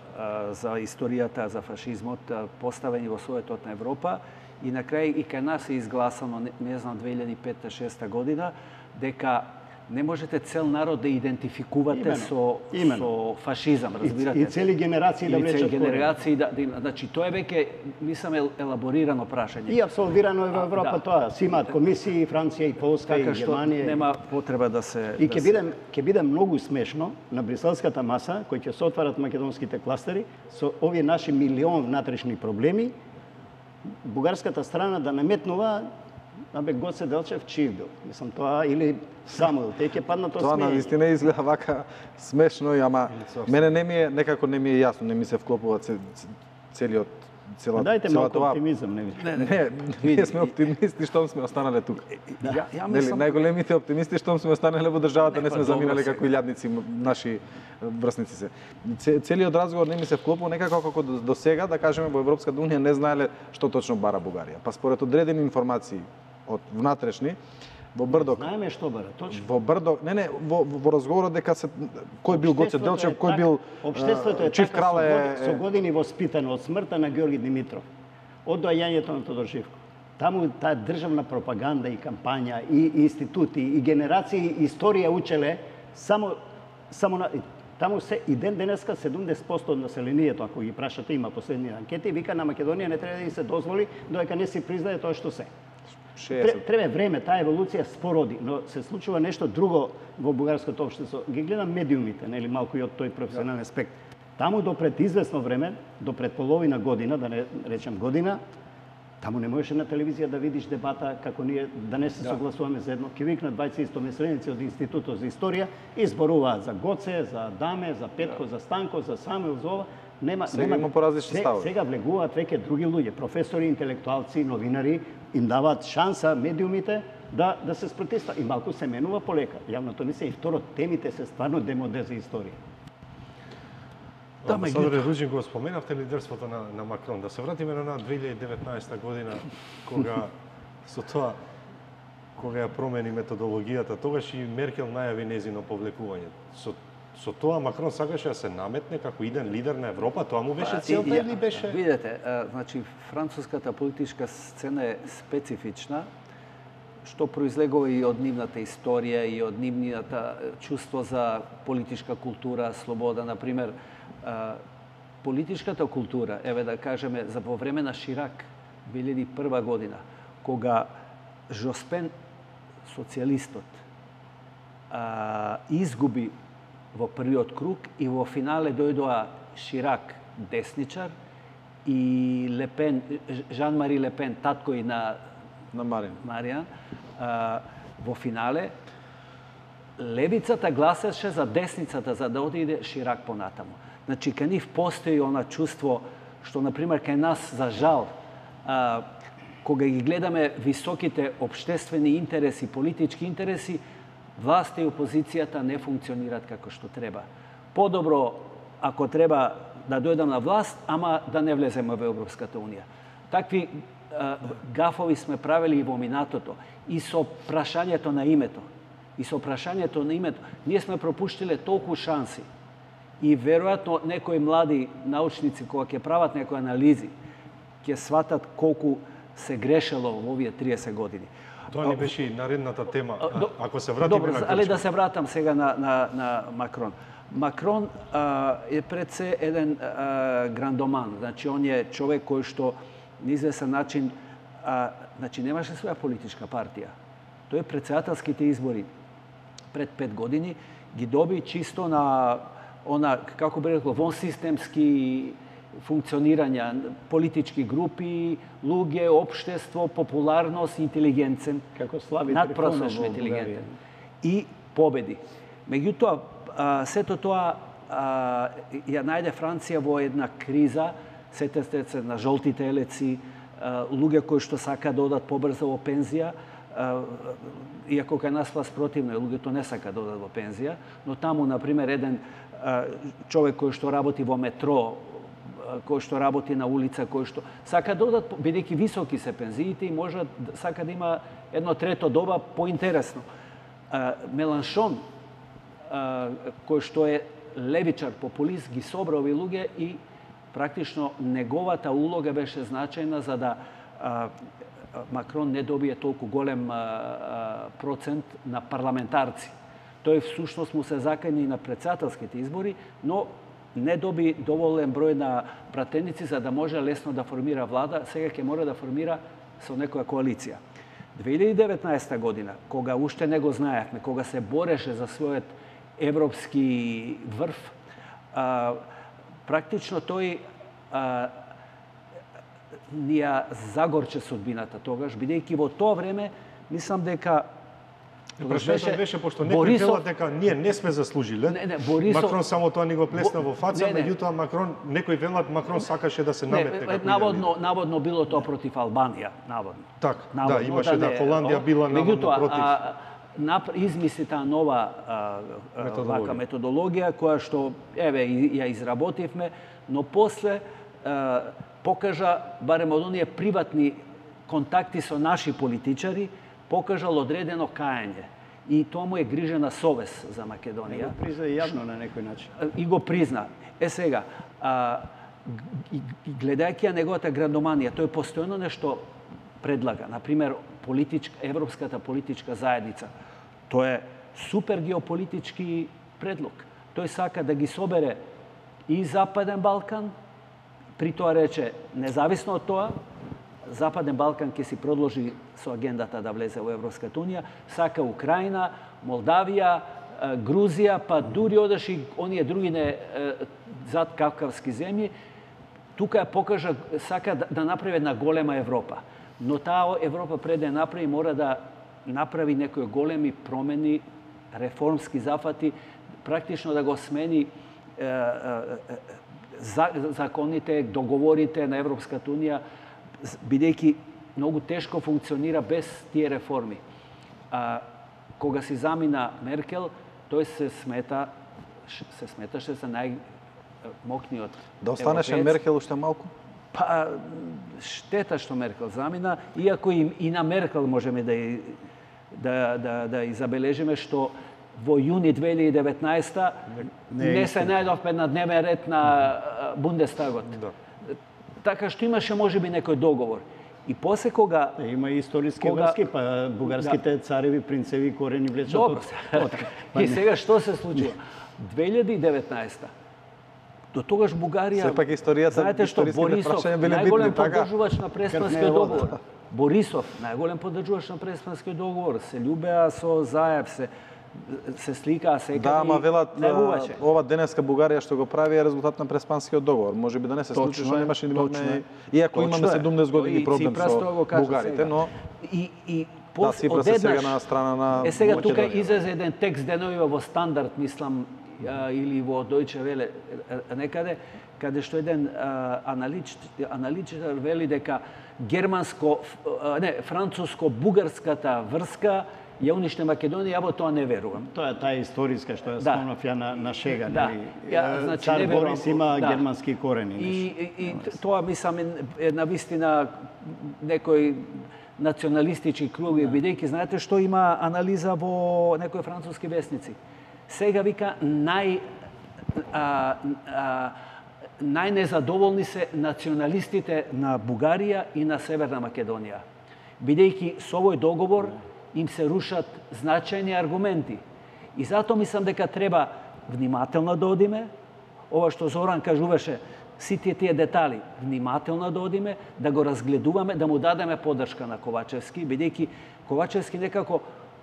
за историјата, за фашизмот, поставени во советот на Европа и на крај и кај нас е изгласано, не знам, 2005-2006 година, дека не можете цел народ да идентификувате со фашизам, разбирате? И цели генерации да влечат. И цели генерации значи тоа е веќе мислам елаборирано прашање. И абсолвирано е во Европа тоа. Си имаат комисии, Франција и Полска и Германија. Нема потреба да се И ќе биде многу смешно на бриселската маса кој ќе се отварат македонските кластери со овие наши милион внатрешни проблеми, бугарската страна да наметнува абе Гоце Делчев чив бил. Мислам тоа или Самуил, те ќе паднат од смење. Тоа навистина изгледа вака смешно, ама мене некако не ми е јасно, не ми се вклопува целиот Дайте малку оптимизам, не видите. Не, ние сме оптимисти штом сме останале тука. Нели, најголемите оптимисти штом сме останале во државата, не сме заминале како илјадници наши врсници се. Целиот разговор не ми се вклопува некако како до сега, да кажеме, во Европската унија не знаеле што точно бара Бугарија. Па според одредени информации од внатрешни, Во Брдок. Знаеме што бара, точно. Во Брдок, во разговорот дека се кој бил Гоце Делчев, кој бил Обштеството е Чиф така Крале со години воспитано од смртта на Георги Димитров, од доаѓањето на Тодор Живко. Таму таа државна пропаганда и кампања и институти и генерации историја учеле само на таму се и ден денеска 70% од населението, ако ги прашате, има последни анкети, вика на Македонија не треба да ни се дозволи додека не се признае тоа што се. Треба време, таа еволуција спороди, но се случува нешто друго во бугарското општество. Ги гледам медиумите, нели малку и од тој професионален аспект. Таму до пред известно време, до пред половина година, да не речем година, таму не можеше на телевизија да видиш дебата како ние да не се согласуваме за едно. Ке викнат 20 истомисленици од Институтот за историја и зборуваат за Гоце, за Даме, за Петко, за Станко, за Самуил, за ова. Сега има поразлични ставови. Сега влегуваат веќе други луѓе, професори, интелектуалци, новинари, им даваат шанса медиумите да се спротивстават. И малку се менува полека. Јавното мислење и второ, темите се стварно демоде за историја. Амбасадоре Руџин, го споменавте лидерството на Макрон. Да се вратиме на 2019 година, кога ја промени методологијата, тогаш и Меркел најави незино повлекување. Со тоа Макрон сакаше да се наметне како иден лидер на Европа, тоа му беше целта или беше? Видете, значи француската политичка сцена е специфична, што произлегува и од нивната историја и од нивната чувство за политичка култура, слобода, например, политичката култура, еве да кажеме, за во време на Ширак, 2001 година, кога Жоспен, социјалистот, изгуби во првиот круг и во финале дојдоа Ширак, десничар, и Лепен, Жан-Мари Лепен, татко и на Маријан, во финале, левицата гласеше за десницата за да одиде Ширак понатаму. Значи, кај нив постои она чувство што, например, кај нас, за жал, кога ги гледаме високите обштествени интереси, политички интереси, власта и опозицијата не функционираат како што треба. Подобро, ако треба да дојдам на власт, ама да не влеземе во Европската Унија. Такви гафови сме правили и во минатото. И со прашањето на името. Ние сме пропуштиле толку шанси. И веројатно некои млади научници кога ќе прават некои анализи, ќе сватат колку се грешело во овие 30 години. Тоа не беше и наредната тема. Ако се вратиме на Грчка. Але да се вратам сега на Макрон. Макрон е пред се еден грандоман. Значи, он е човек кој што на известен начин значи, немаше своја политичка партија. Тој претседателските избори пред 5 години ги доби чисто на она, како би рекло, вонсистемски функционирања, политички групи, луѓе, општество, популарност, интелигенцен, како Слави надпросечно интелигентен. И победи. Меѓутоа, сето тоа ја најде Франција во една криза, сетете се на жолтите елеци, луѓе кои што сака да одат побрзо во пензија, иако кај нас власт противно, луѓето не сака да одат во пензија, но таму, например, еден човек кој што работи во метро, кој што работи на улица, кој што сака да одат, бидејќи високи се пензиите и може сака да има едно трето доба поинтересно. Меланшон, кој што е левичар, популист, ги собра овие луѓе и практично неговата улога беше значајна за да Макрон не добие толку голем процент на парламентарци. Тој всушност му се закани на претседателските избори, но не доби доволен број на пратеници за да може лесно да формира влада, сега ќе мора да формира со некоја коалиција. 2019 година, кога уште не го знаевме, кога се бореше за својот европски врв, практично тој ни ја загорче судбината тогаш, бидејќи во тоа време мислам дека Прашањето беше пошто некои велат дека ние не сме заслужиле. Макрон само тоа ни го плесна во фаца, меѓутоа Макрон, некои велат Макрон сакаше да се наметне како наводно било тоа против Албанија, наводно. Так, да, имаше да Холандија била наводно против. Измисли таа нова методологија која што еве ја изработивме, но после покажа барем од оние приватни контакти со наши политичари покажал одредено каење. И тоа му е грижена совест за Македонија. Го призна јавно на некој начин. И го призна. Сега, гледајќи ја неговата грандоманија, тој постојано нешто предлага. Например, Европската политичка заедница. Тоа е супер геополитички предлог. Тој сака да ги собере и Западен Балкан, при тоа рече, независно од тоа, Западен Балкан ќе си продолжи со агендата да влезе во Европската унија, сака Украина, Молдавија, Грузија, па дури одеш и оние други зад кавкавски земји, тука ја покажа, сака да направи една голема Европа. Но таа Европа пред да направи, мора да направи некои големи промени, реформски зафати, практично да го смени законите, договорите на Европската унија, бидејќи многу тешко функционира без тие реформи. Кога си замина Меркел, тој се сметаше за најмокниот Да останеше Меркел уште малку? Па, штета што Меркел замина, иако и на Меркел можеме да забележиме што во јуни 2019 не се најдовме на дневен ред на Бундестагот. Така што имаше можеби некој договор. И после кога... Има и историски врски, па бугарските цареви, принцеви, корени влечат од... И сега што се случува? 2019 до тогаш Бугарија... Сепак историјата, знаете што, Борисов, најголем поддржувач на Преспанскиот договор. Борисов, најголем поддржувач на Преспанскиот договор. Се љубеа со Заев, се сликаа секаде. Да, ама велат ова денеска Бугарија што го прави е резултат на Преспанскиот договор. Можеби да не се случи, што немаше ни имаме, иако имаме 17 години проблем со бугарите, но да, Ципрас е сега на страна на Македонија. Сега тука излезе еден текст деновива во Стандард, мислам, или во Deutsche Welle некаде, каде што еден аналитичар вели дека француско-бугарската врска ја униште Македонија, ја во тоа не верувам. Тоа е таа историска што ја спомнав ја на шега, нели? Значи, Цар Борис има германски корени. И тоа мислам е навистина некој националистички круги, бидејќи знаете што има анализа во некои француски весници. Сега вика најнезадоволни се националистите на Бугарија и на Северна Македонија. Бидејќи со овој договор им се рушат значајни аргументи. И затоа мислам дека треба внимателно да одиме, ова што Зоран кажуваше, сите тие детали, внимателно да одиме, да го разгледуваме, да му дадеме поддршка на Ковачевски, бидејќи Ковачевски некако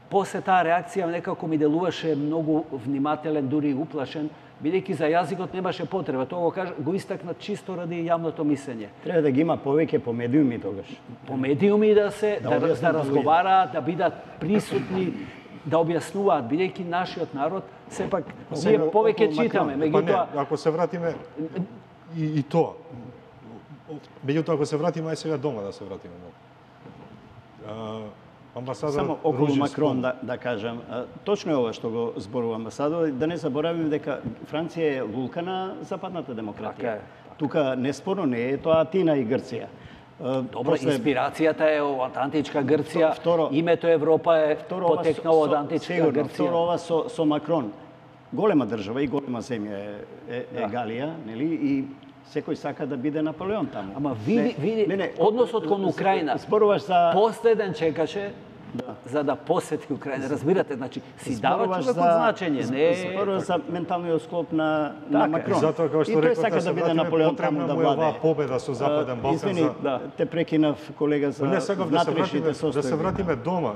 после таа реакција некако ми делуваше многу внимателен, дури уплашен, бидејќи за јазикот немаше потреба. Тоа го истакна чисто ради јавното мислење. Треба да ги има повеќе по медиуми тогаш. По медиуми да разговараат, да бидат присутни, да објаснуваат, бидејќи нашиот народ сепак ние повеќе читаме, меѓутоа ако се вратиме и тоа. Меѓутоа ако се вратиме ај сега дома да се вратиме. Само околу Макрон да кажам. Точно е ова што го зборува амбасадор, да не заборавиме дека Франција е лулка на западната демократија. Тука неспорно не е тоа Атина и Грција. Добро, инспирацијата е од античка Грција, името Европа е потекнало од античка Грција. Второ ова со Макрон. Голема држава и голема земја е Галија, нели? И секој сака да биде Наполеон таму. Ама види односот кон Украина. Зборуваш за последен чекаше за да посети Украина. Разбирате, значи си дава човекот значење, не зборуваш за менталниот склоп на Макрон. Затоа како што реков, сака да биде Наполеон таму да владее. Оваа победа со Западен Балкан. Извини, те прекинав колега за внатрешните состојби. Да се вратиме дома.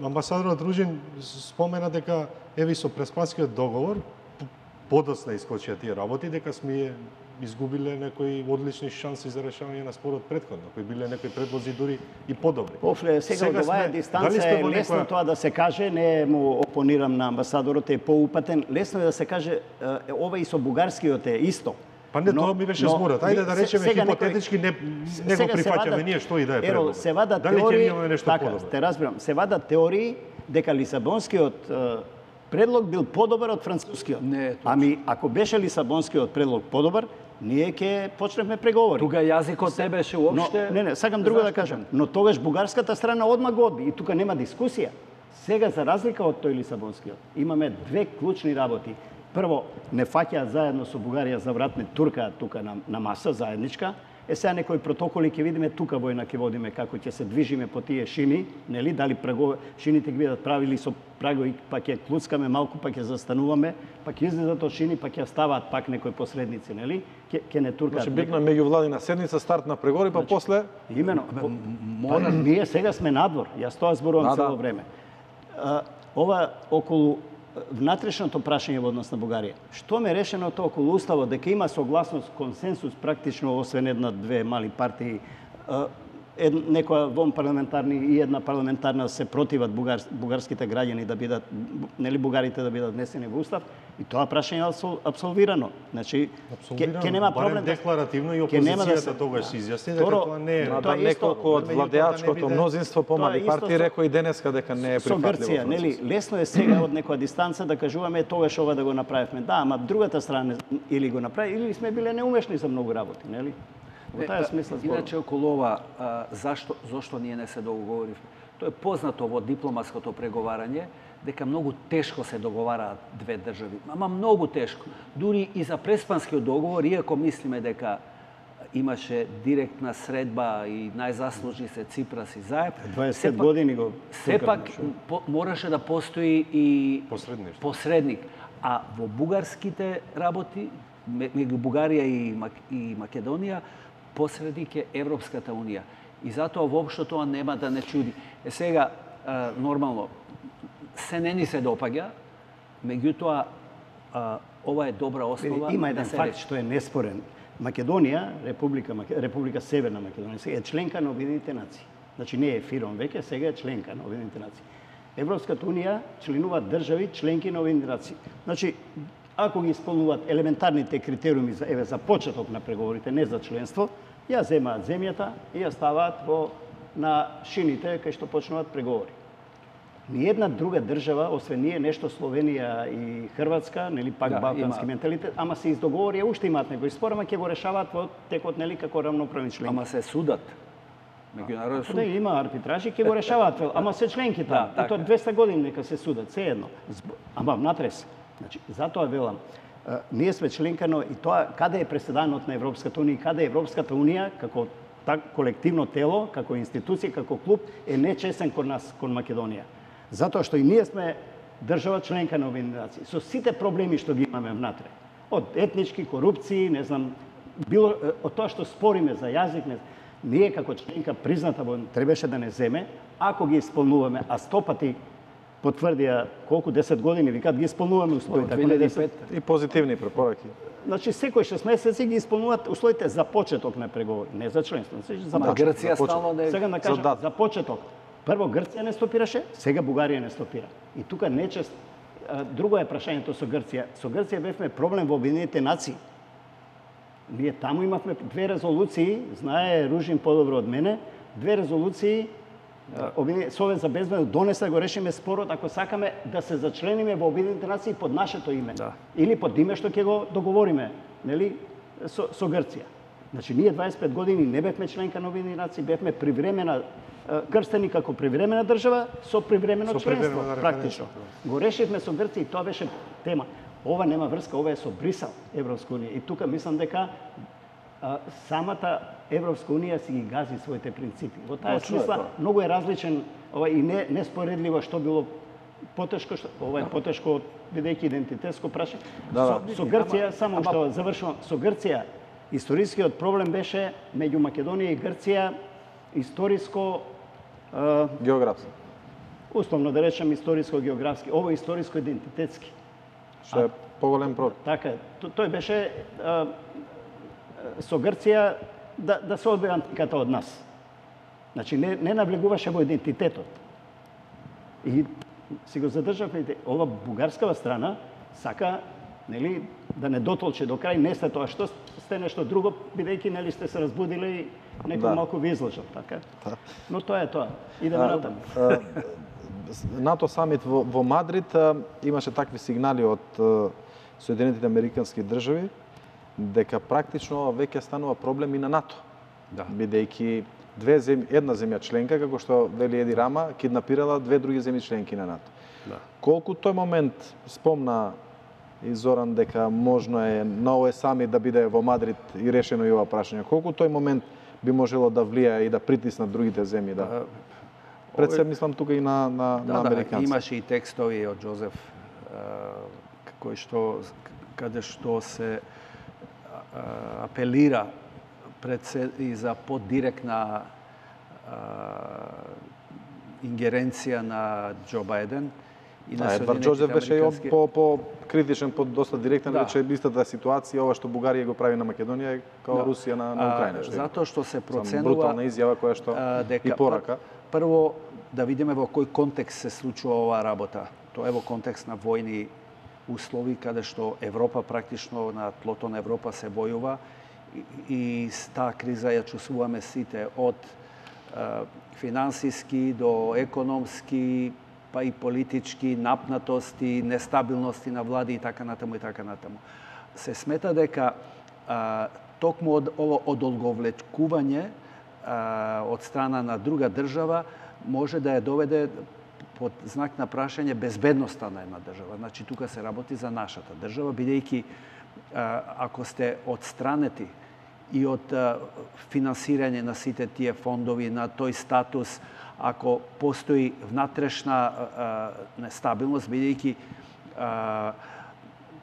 Амбасадорот Ружин спомена дека еви со Преспанскиот договор подоцна искочија тие работи, дека сме изгубиле некои одлични шанси за решавање на спорот претходно, кои биле некои предлози дури и подобри. После сега од оваа дистанца е лесно тоа да се каже, не му опонирам на амбасадорот, е поупатен, лесно е да се каже ова и со бугарскиот е исто. Па не, тоа ми беше зборот. Ајде да речеме хипотетички не го прифаќаме ние што и да е предлог. Се вадат теории, така, те разбирам, се вадат теории дека Лисабонскиот предлог бил подобар од францускиот. Не, ами ако беше Лисабонскиот предлог подобар, ние ќе почнеме преговори. Тука јазикот не беше уопште. Не, сакам друго да кажам. Но тогаш бугарската страна одма го одби и тука нема дискусија. Сега, за разлика од тој Лисабонскиот, имаме две клучни работи. Прво, не фаќаат заедно со Бугарија за врат, не туркаат тука на маса заедничка. Сега некои протоколи ќе видиме, тука војна ќе водиме, како ќе се движиме по тие шини, нели, дали шините ќе бидат правили со прагови, па ќе клуцкаме малку, па ќе застануваме, па ќе излезат од шини, па ќе ставаат пак некои посредници, нели, ќе не туркаат. Значи битна меѓувладина седница, старт на преговори, па после... Имено, ние сега сме надвор, јас тоа зборувам цело време. Ова околу внатрешното прашање во однос на Бугарија. Што ме решеното околу уставот дека има согласност, консенсус практично освен една-две мали партии, некоја вонпарламентарни и една парламентарна се противат бугарските граѓани да бидат, нели, бугарите да бидат внесени во устав, и тоа прашање е апсолвирано. Значи ќе нема проблем декларативно и опозицијата тогаш се изјасни дека тоа не е. Да, неколку од владеачкото мнозинство помали партии рекои денеска дека не е прифатливо. Со Грција, нели, лесно е сега од некоја дистанца да кажуваме тогаш ова да го направивме. Да, ама другата страна или го направи или сме биле неумешни за многу работи, нели? Во таа смисла зборувам. Иначе околу ова, зашто ние не се договоривме? Тоа е познато во дипломатското преговарање, дека многу тешко се договараат две држави. Ама многу тешко. Дури и за Преспанскиот договор, иако мислиме дека имаше директна средба и најзаслужи се Ципрас и Заев, 20 години го сепак мораше да постои и посредник. А во бугарските работи, меѓу Бугарија и Македонија, посредник е Европската Унија. И затоа воопшто тоа нема да не чуди. Сега, нормално, се не ни се допаѓа, меѓутоа, ова е добра основа. Има еден факт што е неспорен. Македонија, Република Северна Македонија, е членка на Обединетите нации. Значи не е фиром веќе, сега е членка на Обединетите нации. Европската Унија членуваат држави членки на Обединетите нации. Значи, ако ги исполнуваат елементарните критериуми за почеток на преговорите, не за членство, ја земаат земјата и ја ставаат на шините кај што почнуваат преговори. Ниедна друга држава, освен ние, нешто Словенија и Хрватска, нели пак балкански менталитет, ама се издоговори, уште имаат некои спор, ама ќе го решаваат во текот, нели, како равноправни членки. Ама се судат. Меѓународен суд. Не, има арбитражи, ќе го решаваат, ама се членки таму. И тоа 200 години нека се судат, се едно. Ама внатрес. Значи, затоа велам, ние сме членка, но и тоа каде е преседанот на Европската Унија, каде е Европската Унија како колективно тело, како институција, како клуб, е нечесен кон нас, кон Македонија. Затоа што и ние сме држава членка на Обединетите нации, со сите проблеми што ги имаме внатре. Од етнички, корупции, не знам, било од тоа што спориме за јазик, ние како членка призната требаше да не земе, ако ги исполнуваме, а 100 пати потврдија колку 10 години викаат ги исполнуваме условите. 2005 и позитивни препораки. Значи секој 6 месеци ги исполнуваат условите за почеток на преговори, не за членство. За Грција стално не. Сега да кажам за почеток. Прво Грција не стопираше, сега Бугарија не стопира. И тука нечест друго е прашањето со Грција. Со Грција бевме проблем во Обединетите нации. Ние таму имавме две резолуции, знае Ружин подобро од мене, две резолуции. Совет за безбедност донесе да го решиме спорот ако сакаме да се зачлениме во Обединетите нации под нашето име. Да. Или под име што ќе го договориме, нели, со Грција. Значи ние 25 години не бевме членка на Обединетите нации, бевме привремена крстени како привремена држава со привремено членство практично. Го решивме со Грција и тоа беше тема. Ова нема врска, ова е со Брисел, Европска унија. И тука мислам дека самата Европска унија си ги гази своите принципи. Во таа смисла многу е различен и неспоредливо што било потешко, ова е потешко бидејќи идентитетско прашање. Со Грција, само што завршувам, со Грција историскиот проблем беше меѓу Македонија и Грција историско географски. Условно да речем историско-географски, ово е историско-идентитетски. Што е поголем проблем. Така е. Тој беше со Грција да се одбие антиката од нас. Значи не навлегуваше во идентитетот. И си го задржавме. Ова бугарскава страна сака, нели, да не дотолче до крај, не сте тоа што сте нешто друго, бидејќи нели сте се разбудиле и некој малку ви излажал, така. Но тоа е тоа. Идеме натаму. НАТО самит во Мадрид имаше такви сигнали од Соединетите Американски држави дека практично веќе станува проблем и на НАТО. Да. Бидејќи една земја членка, како што вели Еди Рама, киднапирала две други земји членки на НАТО. Да. Колку тој момент спомна и Зоран дека можно е на овој самит да биде во Мадрид и решено и ова прашање, колку тој момент би можело да влијае и да притиснат другите земји, да? Пред се мислам тука и на американци. Имаше и текстови од Џозеф каде што се апелира пред се и за подиректна ингеренција на Џо Бајден и на Едвард Џозеф беше и по критичен, по доста директен, рече истата ситуација, ова што Бугарија го прави на Македонија е као Русија на Украина. Затоа што се проценува брутална изјава која што и порака. Прво да видиме во кој контекст се случува оваа работа. Тоа е во контекст на војни услови каде што Европа практично на тлото на Европа се војува и таа криза ја чувствуваме сите од финансиски до економски, па и политички напнатости, нестабилности на влади и така натаму и така натаму. Се смета дека токму од ово одолговлечкување од страна на друга држава може да ја доведе под знак на прашање безбедноста на една држава. Значи, тука се работи за нашата држава, бидејќи ако сте одстранети и од финансирање на сите тие фондови, на тој статус, ако постои внатрешна нестабилност, бидејќи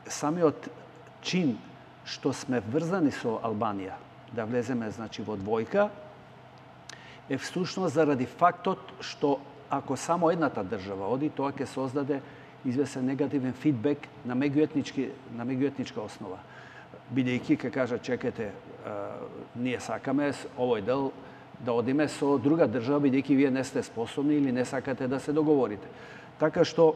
самиот чин што сме врзани со Албанија, да влеземе значи во двојка, е всушност заради фактот што ако само едната држава оди, тоа ќе создаде известен негативен фидбек на меѓуетничка основа. Бидејќи ќе кажа, чекате, ние сакаме овој дел да одиме со друга држава, бидејќи вие не сте способни или не сакате да се договорите. Така што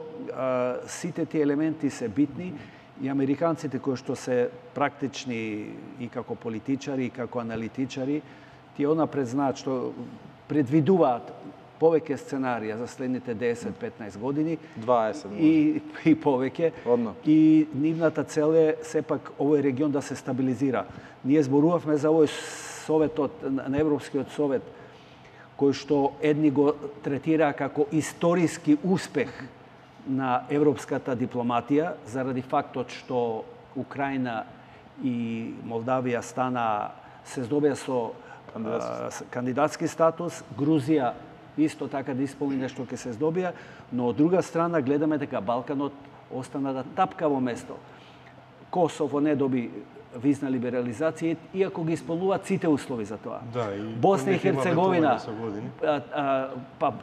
сите тие елементи се битни и американците кои што се практични и како политичари, и како аналитичари, тие онапред знаат што предвидуваат повеќе сценарија за следните 10-15 години 20 и повеќе. И нивната цел е сепак овој регион да се стабилизира. Ние зборувавме за овој Советот на Европскиот совет, кој што едни го третира како историски успех на европската дипломатија заради фактот што Украина и Молдавија се здобија со кандидатски статус, Грузија исто така да исполни нешто ќе се здобија, но од друга страна гледаме дека Балканот остана да тапка во место. Косово не доби визна либерализација, иако ги исполнуваат сите услови за тоа. Да, и Босна и Херцеговина, па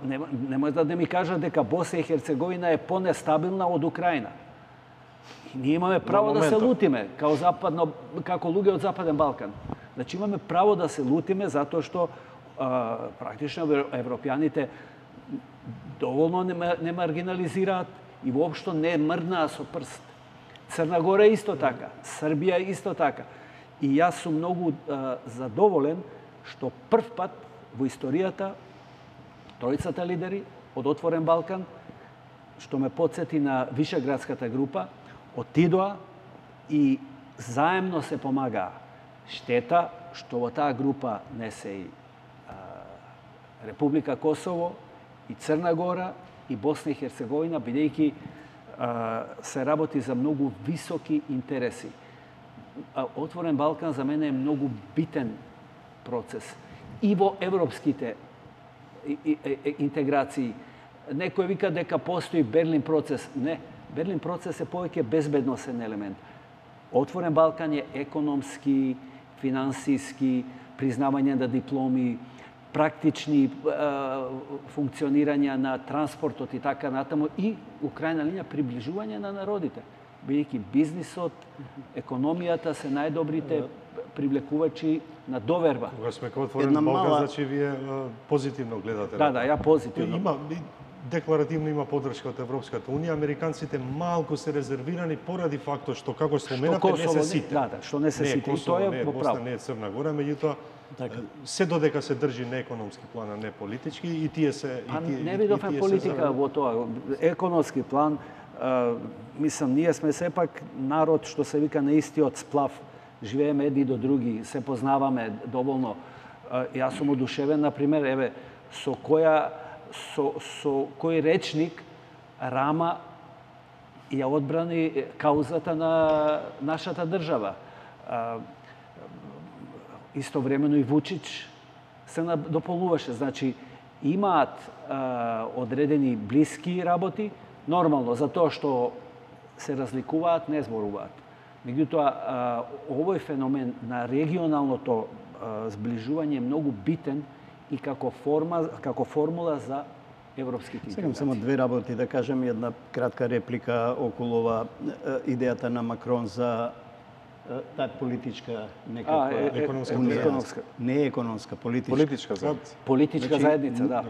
нема да не ми кажат дека Босна и Херцеговина е понестабилна од Украина. И ние имаме право да се лутиме како луѓе од Западен Балкан. Значи имаме право да се лутиме затоа што практично европјаните доволно не маргинализираат и воопшто не мрднаа со прст. Црна Гора исто така, Србија исто така. И јас сум многу задоволен што прв пат во историјата тројцата лидери од Отворен Балкан, што ме потсети на Вишеградската група, отидоа и заемно се помагаа. Штета што во таа група не се и Република Косово, и Црна Гора, и Босна и Херцеговина, бидејќи се работи за многу високи интереси. Отворен Балкан за мене е многу битен процес. И во европските интеграции. Некој вика дека постои Берлин процес. Не, Берлин процес е повеќе безбедносен елемент. Отворен Балкан е економски, финансиски, признавање на дипломи, практични функционирања на транспортот и така натаму, и у крајна линија приближување на народите. Бидејќи бизнисот, економијата се најдобрите привлекувачи на доверба. Кога сме кај Отворен Балкан, значи вие позитивно гледате. Да, ја позитивно. Декларативно има поддршка од Европската Унија, американците малку се резервирани поради фактот што како споменате не се сите. Да, што не се сите. Косово не е Босна, не е Црна Гора, меѓутоа се додека се држи на економски план, а не политички, и тие се... Не видовме политика во тоа. Економски план, мислам, ние сме сепак народ што се вика на истиот сплав. живееме едни до други, се познаваме доволно. Јас сум одушевен, например, еве, со кој речник Рама ја одбрани каузата на нашата држава. Истовремено и Вучич се дополуваше. Значи, имаат одредени блиски работи, нормално, за тоа што се разликуваат, не зборуваат. Меѓутоа, овој феномен на регионалното зближување е многу битен и како формула за европските интеграции. Сегам само две работи да кажем, една кратка реплика околу ова идејата на Макрон за таа политичка некаква економска. Не економска, политичка. Политичка заедница. Политичка заедница, да.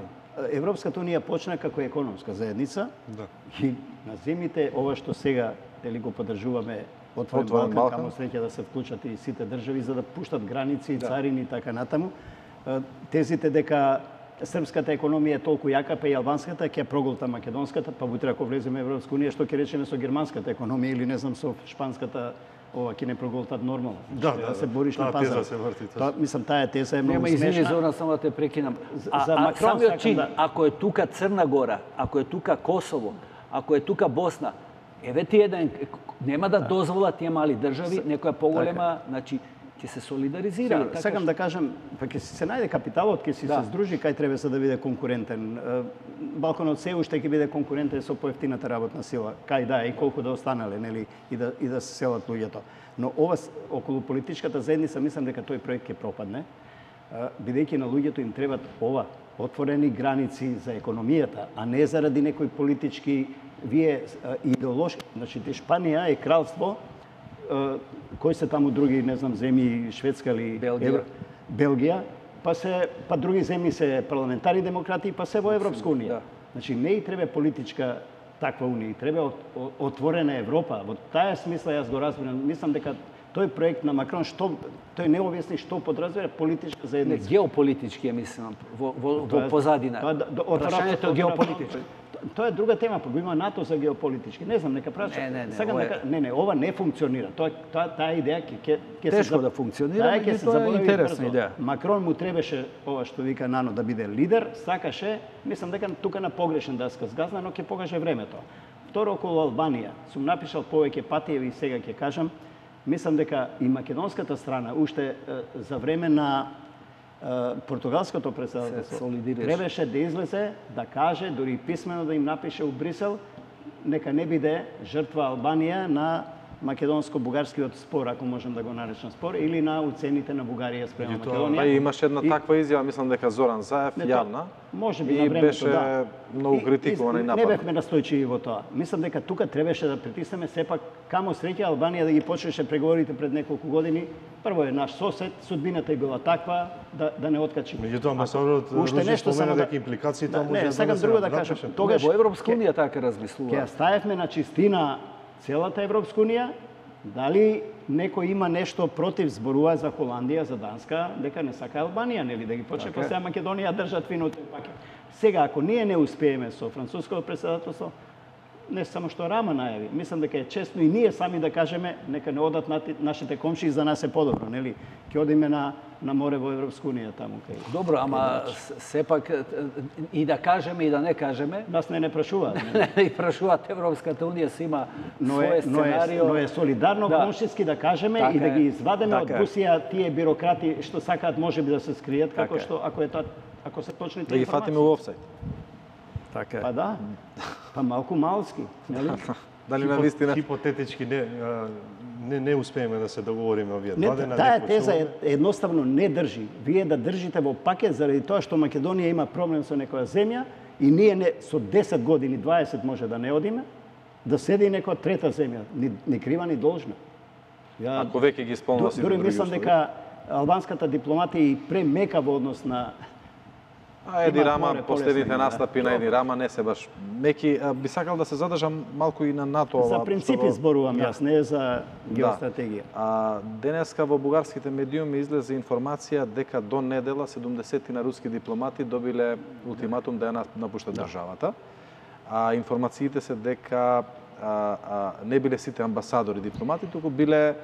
Европската унија почна како економска заедница. Да. И на земите ова што сега дали го поддржуваме отворен Балкан, камо среќа да се вклучат и сите држави за да пуштат граници, царини и така натаму. Тезите дека српската економија е толку јака, па и албанската ќе проголта македонската, па утре ако влеземе во Европска унија, што ќе речеме со германската економија или не знам со шпанската, ова ќе не проголтат нормално. Да, се бориш на пазар. Теза се врти. Мислам, таа теза е многу смешна. Извини, Зоран, само да те прекинам. За Макрон самиот чин, да... ако е тука Црна Гора, ако е тука Косово, ако е тука Босна, еве ти еден, нема да дозволат тие мали држави, некоја поголема, значи, ќе се солидаризира. Сакам да кажам, па ќе се најде капиталот, ќе се здружи кај треба за да биде конкурентен. Балканот се уште ќе биде конкурентен со поевтината работна сила. Кај да и колку да останале, нели, и да се селат луѓето. Но ова околу политичката заедница мислам дека тој проект ќе пропадне, бидејќи на луѓето им требат ова отворени граници за економијата, а не заради некои политички идеолошки. Значи Шпанија е кралство, кои се таму други, не знам, земји, Шведска или Белгија, па други земји се парламентарни демократи, па се во Европска унија. Значи не и треба политичка таква унија, треба отворена Европа. Во таа смисла јас го разбирам. Мислам дека тој проект на Макрон, тој не објасни што подразбира политичка заедница. Геополитички е, мислам, во позадина. Прашањето е геополитичко. Тоа е друга тема, па го има НАТО за геополитички. Не знам, нека праша. Не, ова не функционира. Таа идеја ќе тешко да функционира, ќе се заборави интересна идеја. Макрон му требаше ова што вика Нано да биде лидер, сакаше, мислам дека тука на погрешен даска сгазна, но ќе покаже времето. Второ, околу Албанија, сум напишал повеќе пати и сега ќе кажам, мислам дека и македонската страна уште за време на португалското председателство требаше да излезе, да каже, дури писмено да им напише у Брисел, нека не биде жртва Албанија на македонско-бугарскиот спор, ако можем да го наречам спор, или на уцените на Бугарија спрема Македонија. Па имаше една таква изјава, мислам дека Зоран Заев јавна. Може би на времето, беше многу критикувана и нападна. Не бевме настојчиви во тоа. Мислам дека тука требаше да притиснеме сепак камо среќа Албанија да ги почнеше преговорите пред неколку години. Прво е наш сосед, судбината е била таква да не откачи. Меѓутоа амбасадорот Ружи спомена дека импликациите може да сакам друго да кажам. Тогаш во Европска унија така размислува. Ќе ставевме на чистина целата Европска унија. Дали некој има нешто против зборува за Холандија, за Данска, дека не сака Албанија, нели да ги почне па сега Македонија држат фино пакет. Сега ако ние не успееме со француското председателство, не само што Рама најави, мислам дека е честно и ние сами да кажеме нека не одат нашите комшии, за нас е подобро, нели? Ќе одиме на море во Европска унија таму кај. Добро, ама сепак и да кажеме и да не кажеме. Нас не прашуваат. И прашуваат Европската унија се има своје сценарио. Но е солидарно комшиски да кажеме и да ги извадеме од бусија тие бирократи што сакаат можеби да се скријат како што ако се точните информации. Да ги фатиме во офсайд. Така е. Па да. Па малку малски, нели? Дали на вистина хипотетички не успееме да се договориме овие два дена. Таа теза едноставно не држи. Вие да држите во пакет заради тоа што Македонија има проблем со некоја земја и ние со 10 години, 20 може да не одиме, да седи некоја трета земја, ни крива ни должна. Ако веќе ги исполнува сите други услови. Мислам дека албанската дипломатија и премека во однос на Еди Рама, последните настапи на Еди Рама не се баш меки. Би сакал да се задржам малку и на НАТО. За принципи зборувам јас, не за геостратегија. Денеска во бугарските медиуми излезе информација дека до недела 70 на руски дипломати добиле ултиматум да ја напуштат државата. Информациите се дека не биле сите амбасадори дипломати, туку биле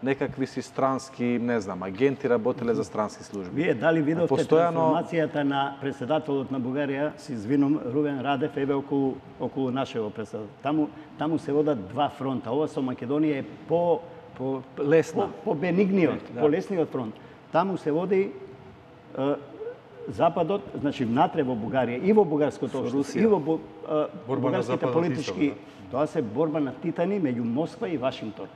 некакви си странски, не знам, агенти работеле за странски служби. Вие дали видовте Постојано трансформацијата на председателот на Бугарија, се извинувам, Рубен Радев, еве околу нашего председател. Таму се водат два фронта. Ова со Македонија е лесна. по-бенигниот, по-лесниот фронт. Таму се води Западот, значи внатре во Бугарија и во бугарското општество, и во бугарските политички, тоа се борба на титани меѓу Москва и Вашингтон.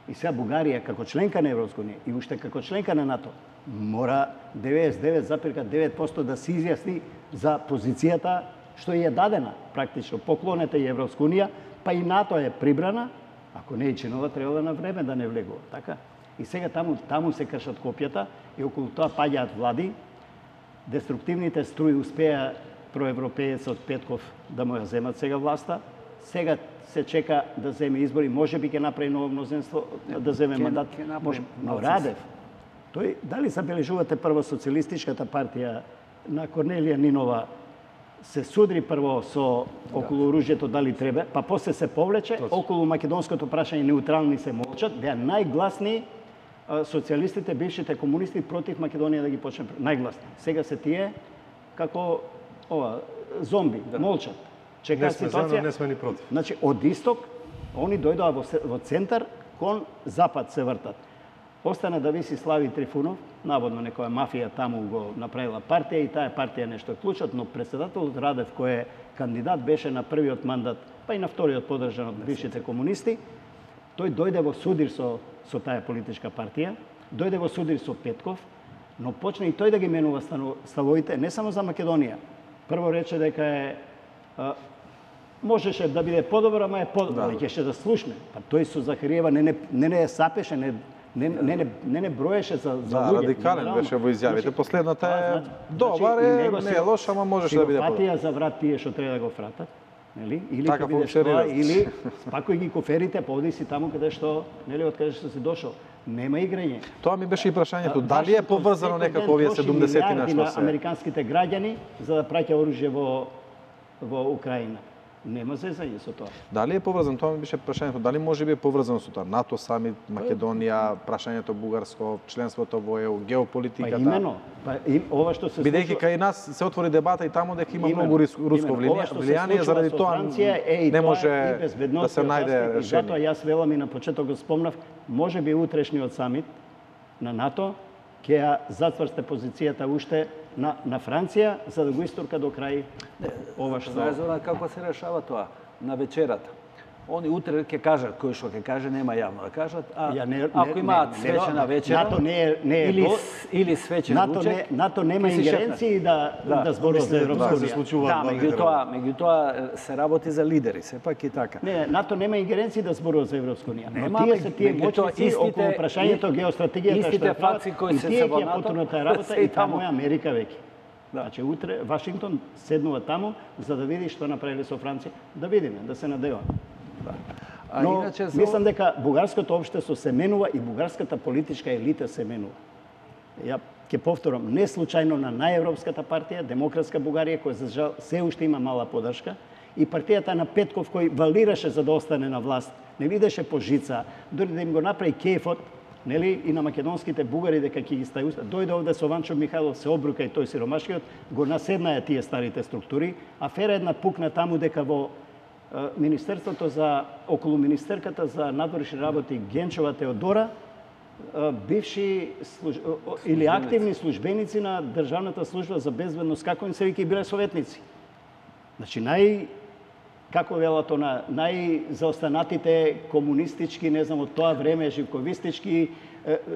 И сега Бугарија како членка на Европска унија и уште како членка на НАТО мора 99,9% да се изјасни за позицијата што е дадена практично. Поклонете и Европска унија, па и НАТО е прибрана, ако не е чинова, треба да на време да не влегува, така? И сега таму се кршат копјата и околу тоа паѓаат влади. Деструктивните струи успеа проевропеецот Петков да му ја земат сега власта. Сега се чека да земе избори, можеби ќе направи ново мнозинство, да земе мандат. Но Радев, тој, дали забележувате прво социјалистичката партија на Корнелија Нинова се судри прво со околу оружјето дали треба, па после се повлече, околу македонското прашање неутрални се молчат, беа најгласни социјалистите, бившите комунисти против Македонија да ги почне најгласни. Сега се тие како зомби, молчат. Чека ситуација. Не сме ни против. Значи од исток они дојдоа во центар, кон запад се вртат. Остана да виси Слави Трифунов, наводно некоја мафија таму го направила партија и таа партија нешто клучат, но председателот Радев кој е кандидат беше на првиот мандат, па и на вториот подржан од бившите комунисти, тој дојде во судир со таа политичка партија, дојде во судир со Петков, но почна и тој да ги менува ставовите не само за Македонија. Прво рече дека е можеше да биде подобро, ама е подобро, ќе да слушне. Па тој со Захариева не сапеше, не броеше за луѓе. Радикален беше во изјавите. Последната е добар, не е лош, ама можеше да биде подобро. Патија за врат тие што треба да го фратат. Нели? Или така или спакој ги коферите, поди си таму каде што, нели, од каде што си дошол. Нема играње. Тоа ми беше и прашањето, дали е поврзано некако овие 70-тина што се американските граѓани за да праќа оружје во Украина. Нема зезање со тоа. Дали е поврзано, тоа ми беше прашањето, дали може би е поврзано со тоа НАТО самит, Македонија, прашањето бугарско, членството во ЕУ, геополитиката. Па имено, ова што се бидејќи кај нас се отвори дебата и таму дека има многу руско влијание, заради тоа не може да се најде решение. Затоа јас велам и на почеток го спомнав, можеби утрешниот самит на НАТО ќе ја зацврсте позицијата уште на Франција, за да го истурка до крај ова што... Знаеш како се решава тоа? На вечерата. Они утре ќе кажат, кој што ќе каже, нема јавно да кажат, ако имаат свечена вечера, НАТО не е или свечен ручек, НАТО нема ингеренции да зборува за Европска унија. Да, меѓутоа се работи за лидери, сепак и така. Не, НАТО нема ингеренции да зборува за Европска унија. Но тие се тие моќници околу прашањето геостратегијата што фаци кои се се во НАТО, работа и таму е Америка веќе. Значи утре Вашингтон седнува таму за да види што направиле со Франција, да видиме, да се надеваме. Но иначе мислам дека бугарското општество се менува и бугарската политичка елита се менува. Ја ќе повторам, не случајно на најевропската партија, Демократска Бугарија, која за жал се уште има мала подршка, и партијата на Петков кој валираше за да остане на власт, не видеше по жица, дори да им го направи кејфот, нели, и на македонските бугари дека ќе ги стави уста. Дојде овде со Ванчо Михајлов, се обрука и тој сиромашкиот, го наседнаа тие старите структури, афера една пукна таму дека во Министерството за околу министерката за надворешни работи Генчова Теодора бивши или активни службеници на Државната служба за безбедност, како им се вики, биле советници. Значи како велато на најзаостанатите комунистички, не знам од тоа време, живковистички,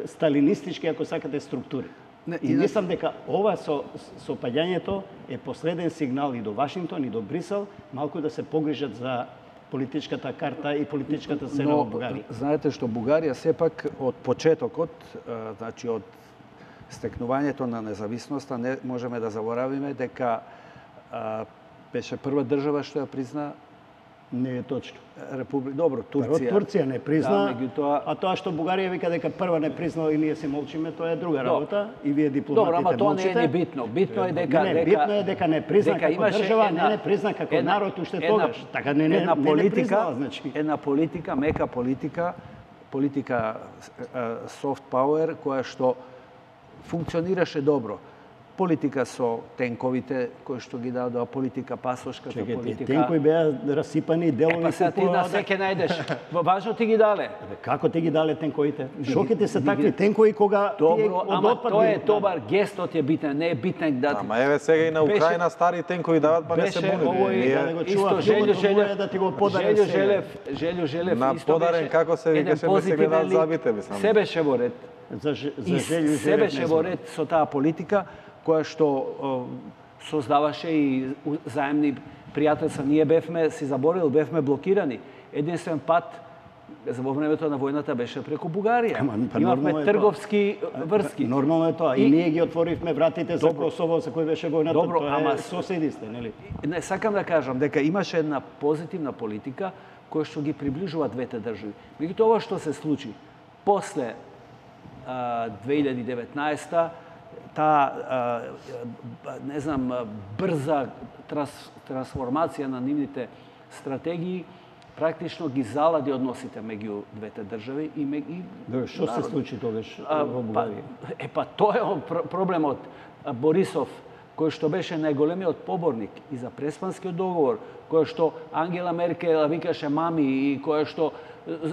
сталинистички, ако сакате, структури. И мислам дека ова со паѓањето е последен сигнал и до Вашингтон и до Брисел, малку да се погрижат за политичката карта и политичката сцена во Бугарија. Знаете што Бугарија сепак од почетокот, значи од стекнувањето на независноста, не можеме да заборавиме дека беше прва држава што ја призна. Не е точно. Добро, Турција. Турција не призна, а тоа што Бугарија вика дека прва не признала и ние се молчиме, тоа е друга работа и вие дипломатите молчите. Добро, ама тоа не е битно. Битно е дека битно е дека не призна како држава, не призна како народ уште тогаш. Така не признала, значи. Една политика, мека политика, политика soft power која што функционираше добро. Политика со тенковите, кои што ги дадоа, политика пасошката, политика... Тенкови беа расипани делови... Па сега ти на секе најдеш. Важно ти ги дале. Како ти ги дале тенковите? Шоките се такви тенкови кога добро, ама тоа е добар, гестот е битен, не е битен да... Ама еве сега и на Украина стари тенкови дават, па не се буни. Исто Желјо Желев на подарен како се викаше, ме се гледат забите, мислам. Се беше во ред. За Желјо Желев. Се беше во ред со таа политика која што создаваше и заемни пријателства. Ние бевме, си заборил, бевме блокирани. Единствен пат во времето на војната беше преку Бугарија. Имавме трговски врски. Нормално е тоа. И ние ги отворивме вратите за Косово, за кој беше војната. Добро, ама соседи сте, нели? Не сакам да кажам дека имаше една позитивна политика која што ги приближува двете држави. Меѓутоа ова што се случи после 2019 таа не знам брза трансформација на нивните стратегии практично ги залади односите меѓу двете држави и што се случи тогаш во Бугарија? Па тоа е проблемот. Борисов, кој што беше најголемиот поборник и за Преспанскиот договор, кој што Ангела Меркел викаше мами и кој што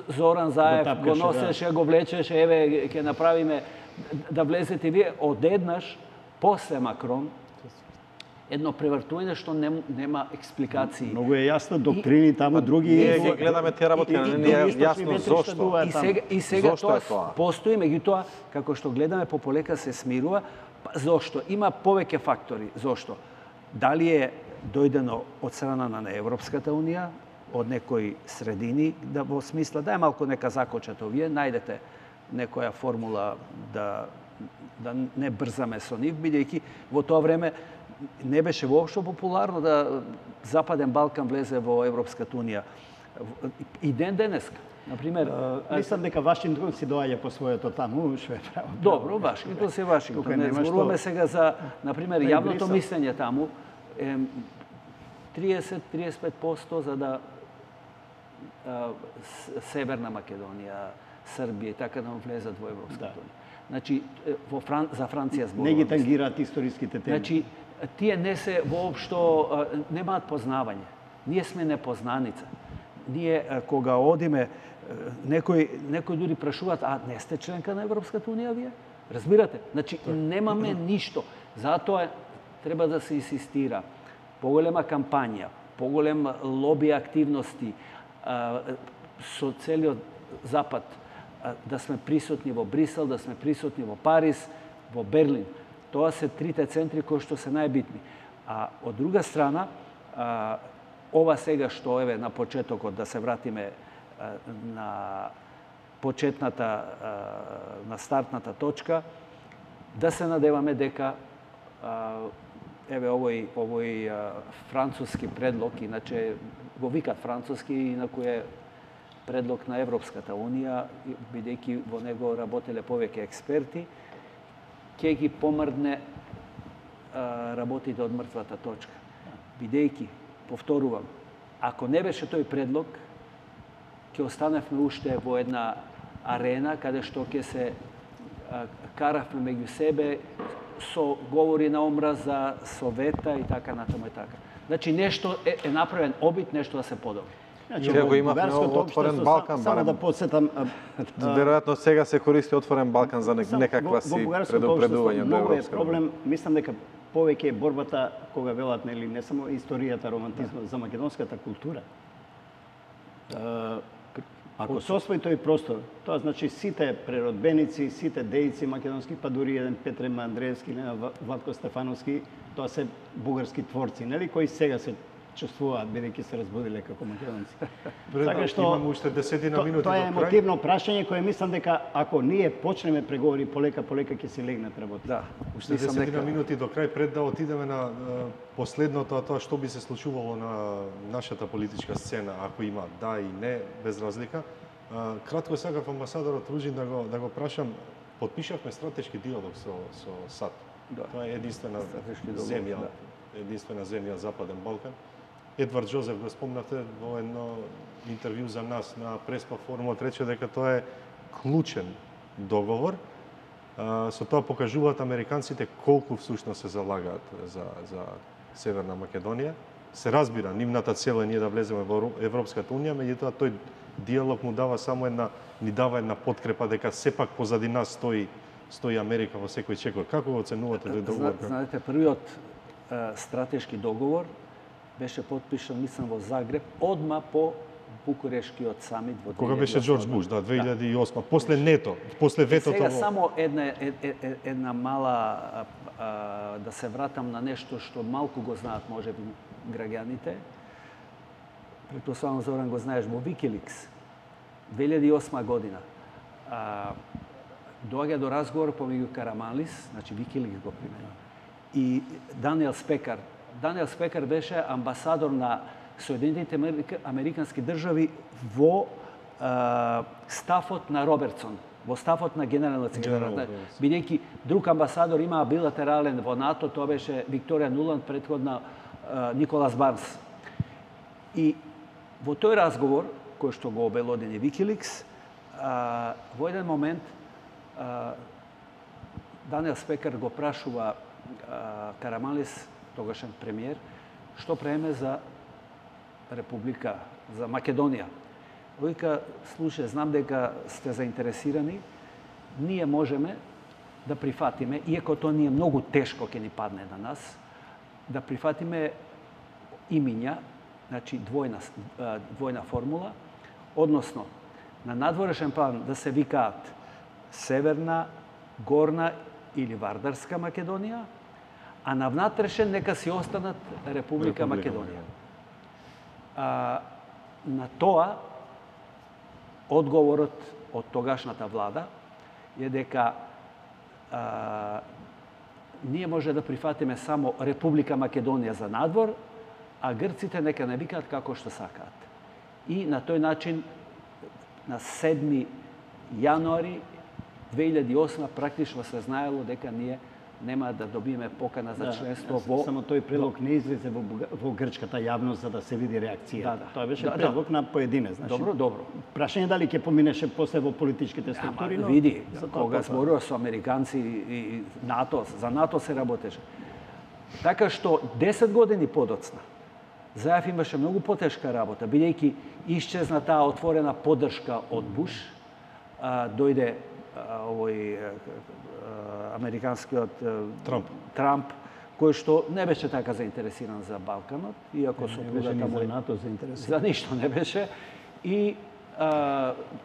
Зоран Заев го носеше, го влечеше, еве ќе направиме да влезете вие, одеднаш после Макрон едно превртување што нема експликации. Многу е јасно доктрини таму, други... Ние ги гледаме тие работи, не е јасно зошто. И сега тоа постои, меѓутоа, како што гледаме, пополека се смирува. Зошто? Има повеќе фактори. Зошто? Дали е дојдено од страна на Европската Унија, од некои средини, да во смисла, да е малку нека закочат овие, најдете некоја формула да не брзаме со нив, бидејќи во тоа време не беше воопшто популарно да Западен Балкан влезе во Европската Унија. И денеска, например... Мислам дека Вашингтон си доаѓа по своето таму, што е право. Добро, Вашингтон си Вашингтон. Не зборуваме сега за, например, јавното мислење таму. 30-35% за да Северна Македонија, Србија и така да влезат во Европската Унија. Значи, за Франција зборуваме. Не ги тангираат историските теми. Значи, тие не се воопшто, немаат познавање. Ние сме непознаница. Ние, кога одиме, некои дури прашуваат, а не сте членка на Европската Унија вие? Разбирате? Значи, немаме ништо. Затоа треба да се инсистира. Поголема кампања, поголем лоби активности, со целиот Запад, да сме присутни во Брисел, да сме присутни во Париз, во Берлин. Тоа се трите центри кои што се најбитни. А од друга страна, ова сега што еве на почетокот да се вратиме на почетната, на стартната точка, да се надеваме дека еве овој француски предлог, иначе го викат француски, инаку е предлог на Европската Унија, бидејќи во него работеле повеќе експерти, ќе ги помрдне работите од мртвата точка. Бидејќи, повторувам, ако не беше тој предлог, ќе останевме уште во една арена каде што ќе се каравме меѓу себе со говори на омраза, совета и така натаму и така. Значи нешто е направен обид, нешто да се подобри. Значи, ако имавме отворен Балкан, само да подсетам, веројатно сега се користи отворен Балкан за некаква си предупредување до Европска. Проблем, мислам дека повеќе е борбата кога велат нели не само историјата, романтизмот за македонската култура. Ако се освои тој простор, тоа значи сите преродбеници, сите дејци македонски, па дури еден Петре Андреевски, Владко Стефановски, тоа се бугарски творци, нели, кои сега се чувствуваат бидејќи се разбудиле како македонци. Така што имаме уште 10 минути до крај. Тоа е емотивно прашање кое мислам дека ако ние почнеме преговори полека ќе се легнат работи. Да, уште 10 минути до крај пред да отидеме на последното, тоа што би се случувало на нашата политичка сцена, ако има да и не, без разлика. Кратко сакав амбасадорот Ружин да го прашам, потпишавме стратешки диалог со САД. Да. Тоа е единствена земја Западен Балкан. Едвард Жозеф го спомнате во едно интервју за нас на Преспа форумот, рече дека тоа е клучен договор. Со тоа покажуваат американците колку всушност се залагаат за Северна Македонија. Се разбира, нивната цел е ние да влеземе во Европската унија, меѓутоа тој диалог ни дава една подкрепа дека сепак позади нас стои Америка во секој чекор. Како го оценувате тој договор? Знаете, првиот стратешки договор беше потпишан, мислам, во Загреб, одма по Букурешкиот самит во 2008. Кога беше Џорџ Буш, 2008, после НЕТО, после ветото. Сега само една мала, да се вратам на нешто што малку го знаат можеби граѓаните. Претпоставам, Зоран, го знаеш, во Wikileaks 2008 година доаѓа до разговор помеѓу Караманлис, значи Wikileaks го примени, и Даниел Спекар. Даниел Спекар беше амбасадор на Соединетите Американски држави во стафот на Робертсон, во стафот на генералниот секретар. Бидејќи друг амбасадор имаа билатерален во НАТО, тоа беше Викторија Нуланд, претходна Николас Барнс. И во тој разговор, кој што го обелодени Wikileaks, во еден момент Даниел Спекар го прашува Караманлис, тогашен премиер, што преме за Република, за Македонија. Вика, слушај, знам дека сте заинтересирани, ние можеме да прифатиме, иако тоа ни е многу тешко ќе ни падне на нас, да прифатиме имиња, значи двојна формула, односно на надворешен план да се викаат Северна, Горна или Вардарска Македонија, а на внатрешен нека си останат Република Македонија. На тоа одговорот од тогашната влада е дека ние може да прифатиме само Република Македонија за надвор, а грците нека не викаат како што сакаат. И на тој начин на 7 јануари 2008 практично се знаело дека ние нема да добиеме покана за членство во... Само тој предлог не излезе во грчката јавност за да се види реакција. Тоа беше предлог на поединец. Значи, добро. Прашање дали ќе поминеше после во политичките структури, но... Види, кога зборува со американци и НАТО, за НАТО се работеше. Така што 10 години подоцна, Заев имаше многу потешка работа, бидејќи исчезна таа отворена поддршка од Буш, дојде овој американскиот Трамп, кој што не беше така заинтересиран за Балканот, иако со не за НАТО заинтересиран. За ништо не беше и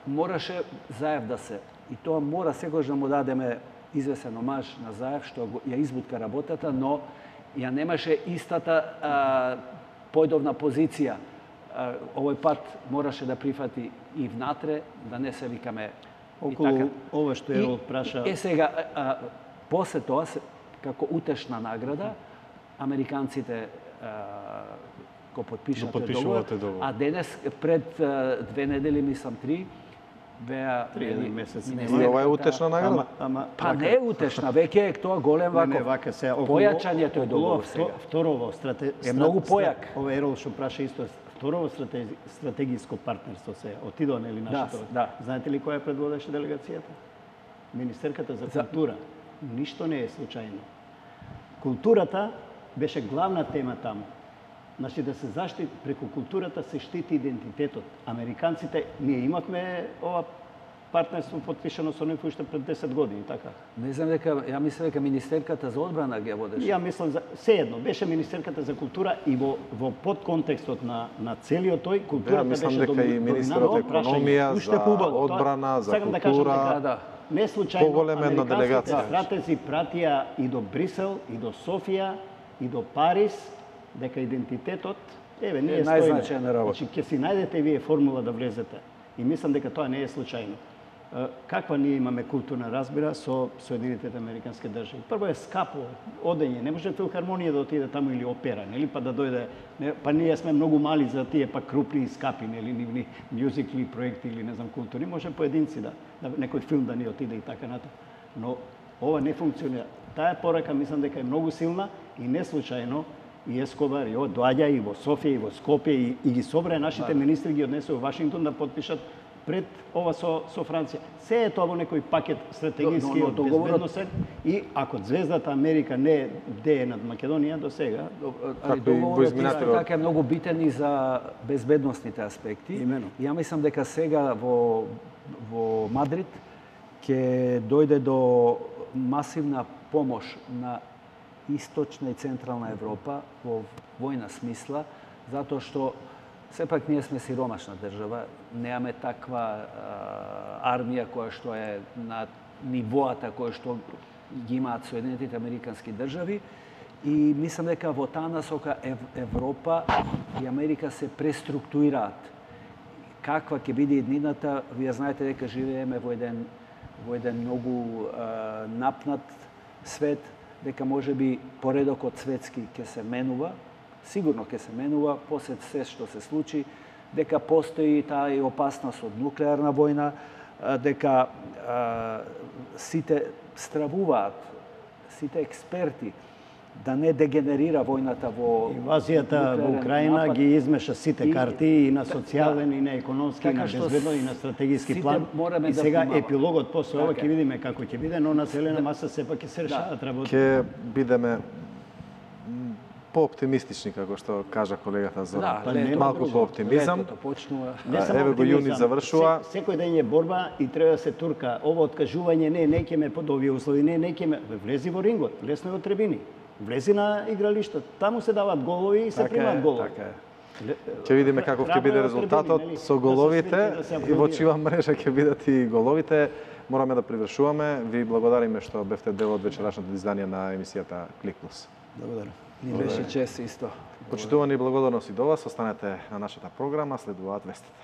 мораше Заев да се, и тоа мора секогаш да му дадеме извесен омаж на Заев што ја избутка работата, но ја немаше истата појдовна позиција. Овој пат мораше да прифати и внатре, да не се викаме околу ова што Ерол праша. Сега, после тоа, како утешна награда, американците го потпишат договор, а денес, пред 2 недели, мислам 3, беа... 3 месец. И ова е утешна награда? Па не е утешна, веќе е тоа голем појачање тој договор сега. Второво, е многу појак. Ова Ерол што праша исто, второво стратегиско партнерство се отидоа нели нашето. Знаете ли која предводеше делегацијата? Министерката за култура. Ништо не е случајно. Културата беше главна тема таму. Значи да се заштити преку културата се штити идентитетот. Американците, ние имавме ова партнерство потпишано со нив уште пред 10 години, така? Не знам дека, ја мислам дека Министерката за одбрана ги водеше. Ја мислам сеедно, беше Министерката за култура и во подконтекстот на целиот тој културата беше доминантна. Мислам дека и Министерот економија, за одбрана, за култура. Не случајно американските стратези пратија и до Брисел, и до Софија, и до Париз, дека идентитетот, ние стоиме. Значи, ќе си најдете вие формула да влезете. И мислам дека тоа не е случајно. Каква ние имаме културна разбира со Соединетите Американски држави? Прво е скапо одење, не може филхармонија да отиде таму или опера, нели, па да дојде, па ние сме многу мали за тие па крупни и скапи, нели, нивни мюзикли проекти или не знам култури, може поединци да некој филм да ни отиде и така натаму. Но ова не функционира. Таа порака мислам дека е многу силна и не случајно и Ескобар доаѓа и во Софија и во Скопје и ги собра нашите министри ги однесе во Вашингтон да потпишат пред ова со Франција. Се е тоа во некој пакет стратегиски Но безбедносен и ако Звездата Америка не дее над Македонија до сега, договорот исто така е многу битен и за безбедносните аспекти. Имено. Ја мислам дека сега во Мадрид ќе дојде до масивна помош на Источна и Централна Европа во војна смисла, затоа што сепак ние сме сиромашна држава, немаме таква армија која што е на нивоата која што ги имаат Соединетите Американски држави и мислам дека во таа насока Европа и Америка се преструктурираат. Каква ќе биде иднината, вие знаете дека живееме во еден многу напнат свет, дека можеби поредокот светски ќе се менува, сигурно ќе се менува после се што се случи, дека постои таа и опасност од нуклеарна војна, дека сите стравуваат, сите експерти да не дегенерира војната во инвазијата во Украина ги измеша сите карти и на социјален, и на економски, и на безбедно, и на стратегиски план. И сега епилогот после ова ќе видиме како ќе биде, но на зелена маса сепак ќе се решават работи. Ќе бидеме по-оптимистични, како што кажа колегата Зоран. Малку по-оптимизам. Еве го јуни завршува. Секој ден е борба и треба да се турка. Ова откажување не ќе ме под овие услови, не ќе ме влези во рингот, лесно е од трибини. Влези на игралишто, таму се дават голови и се примаат голови. Ќе видиме каков ќе биде резултатот со головите и во чија мрежа ќе бидат и головите. Мораме да привршуваме. Ви благодариме што бевте дел од вечерашното издание на емисијата Клик Плюс. Благодарам. Ни беше чест исто. Почитувани и благодарности до вас. Останете на нашата програма, следуваат вестите.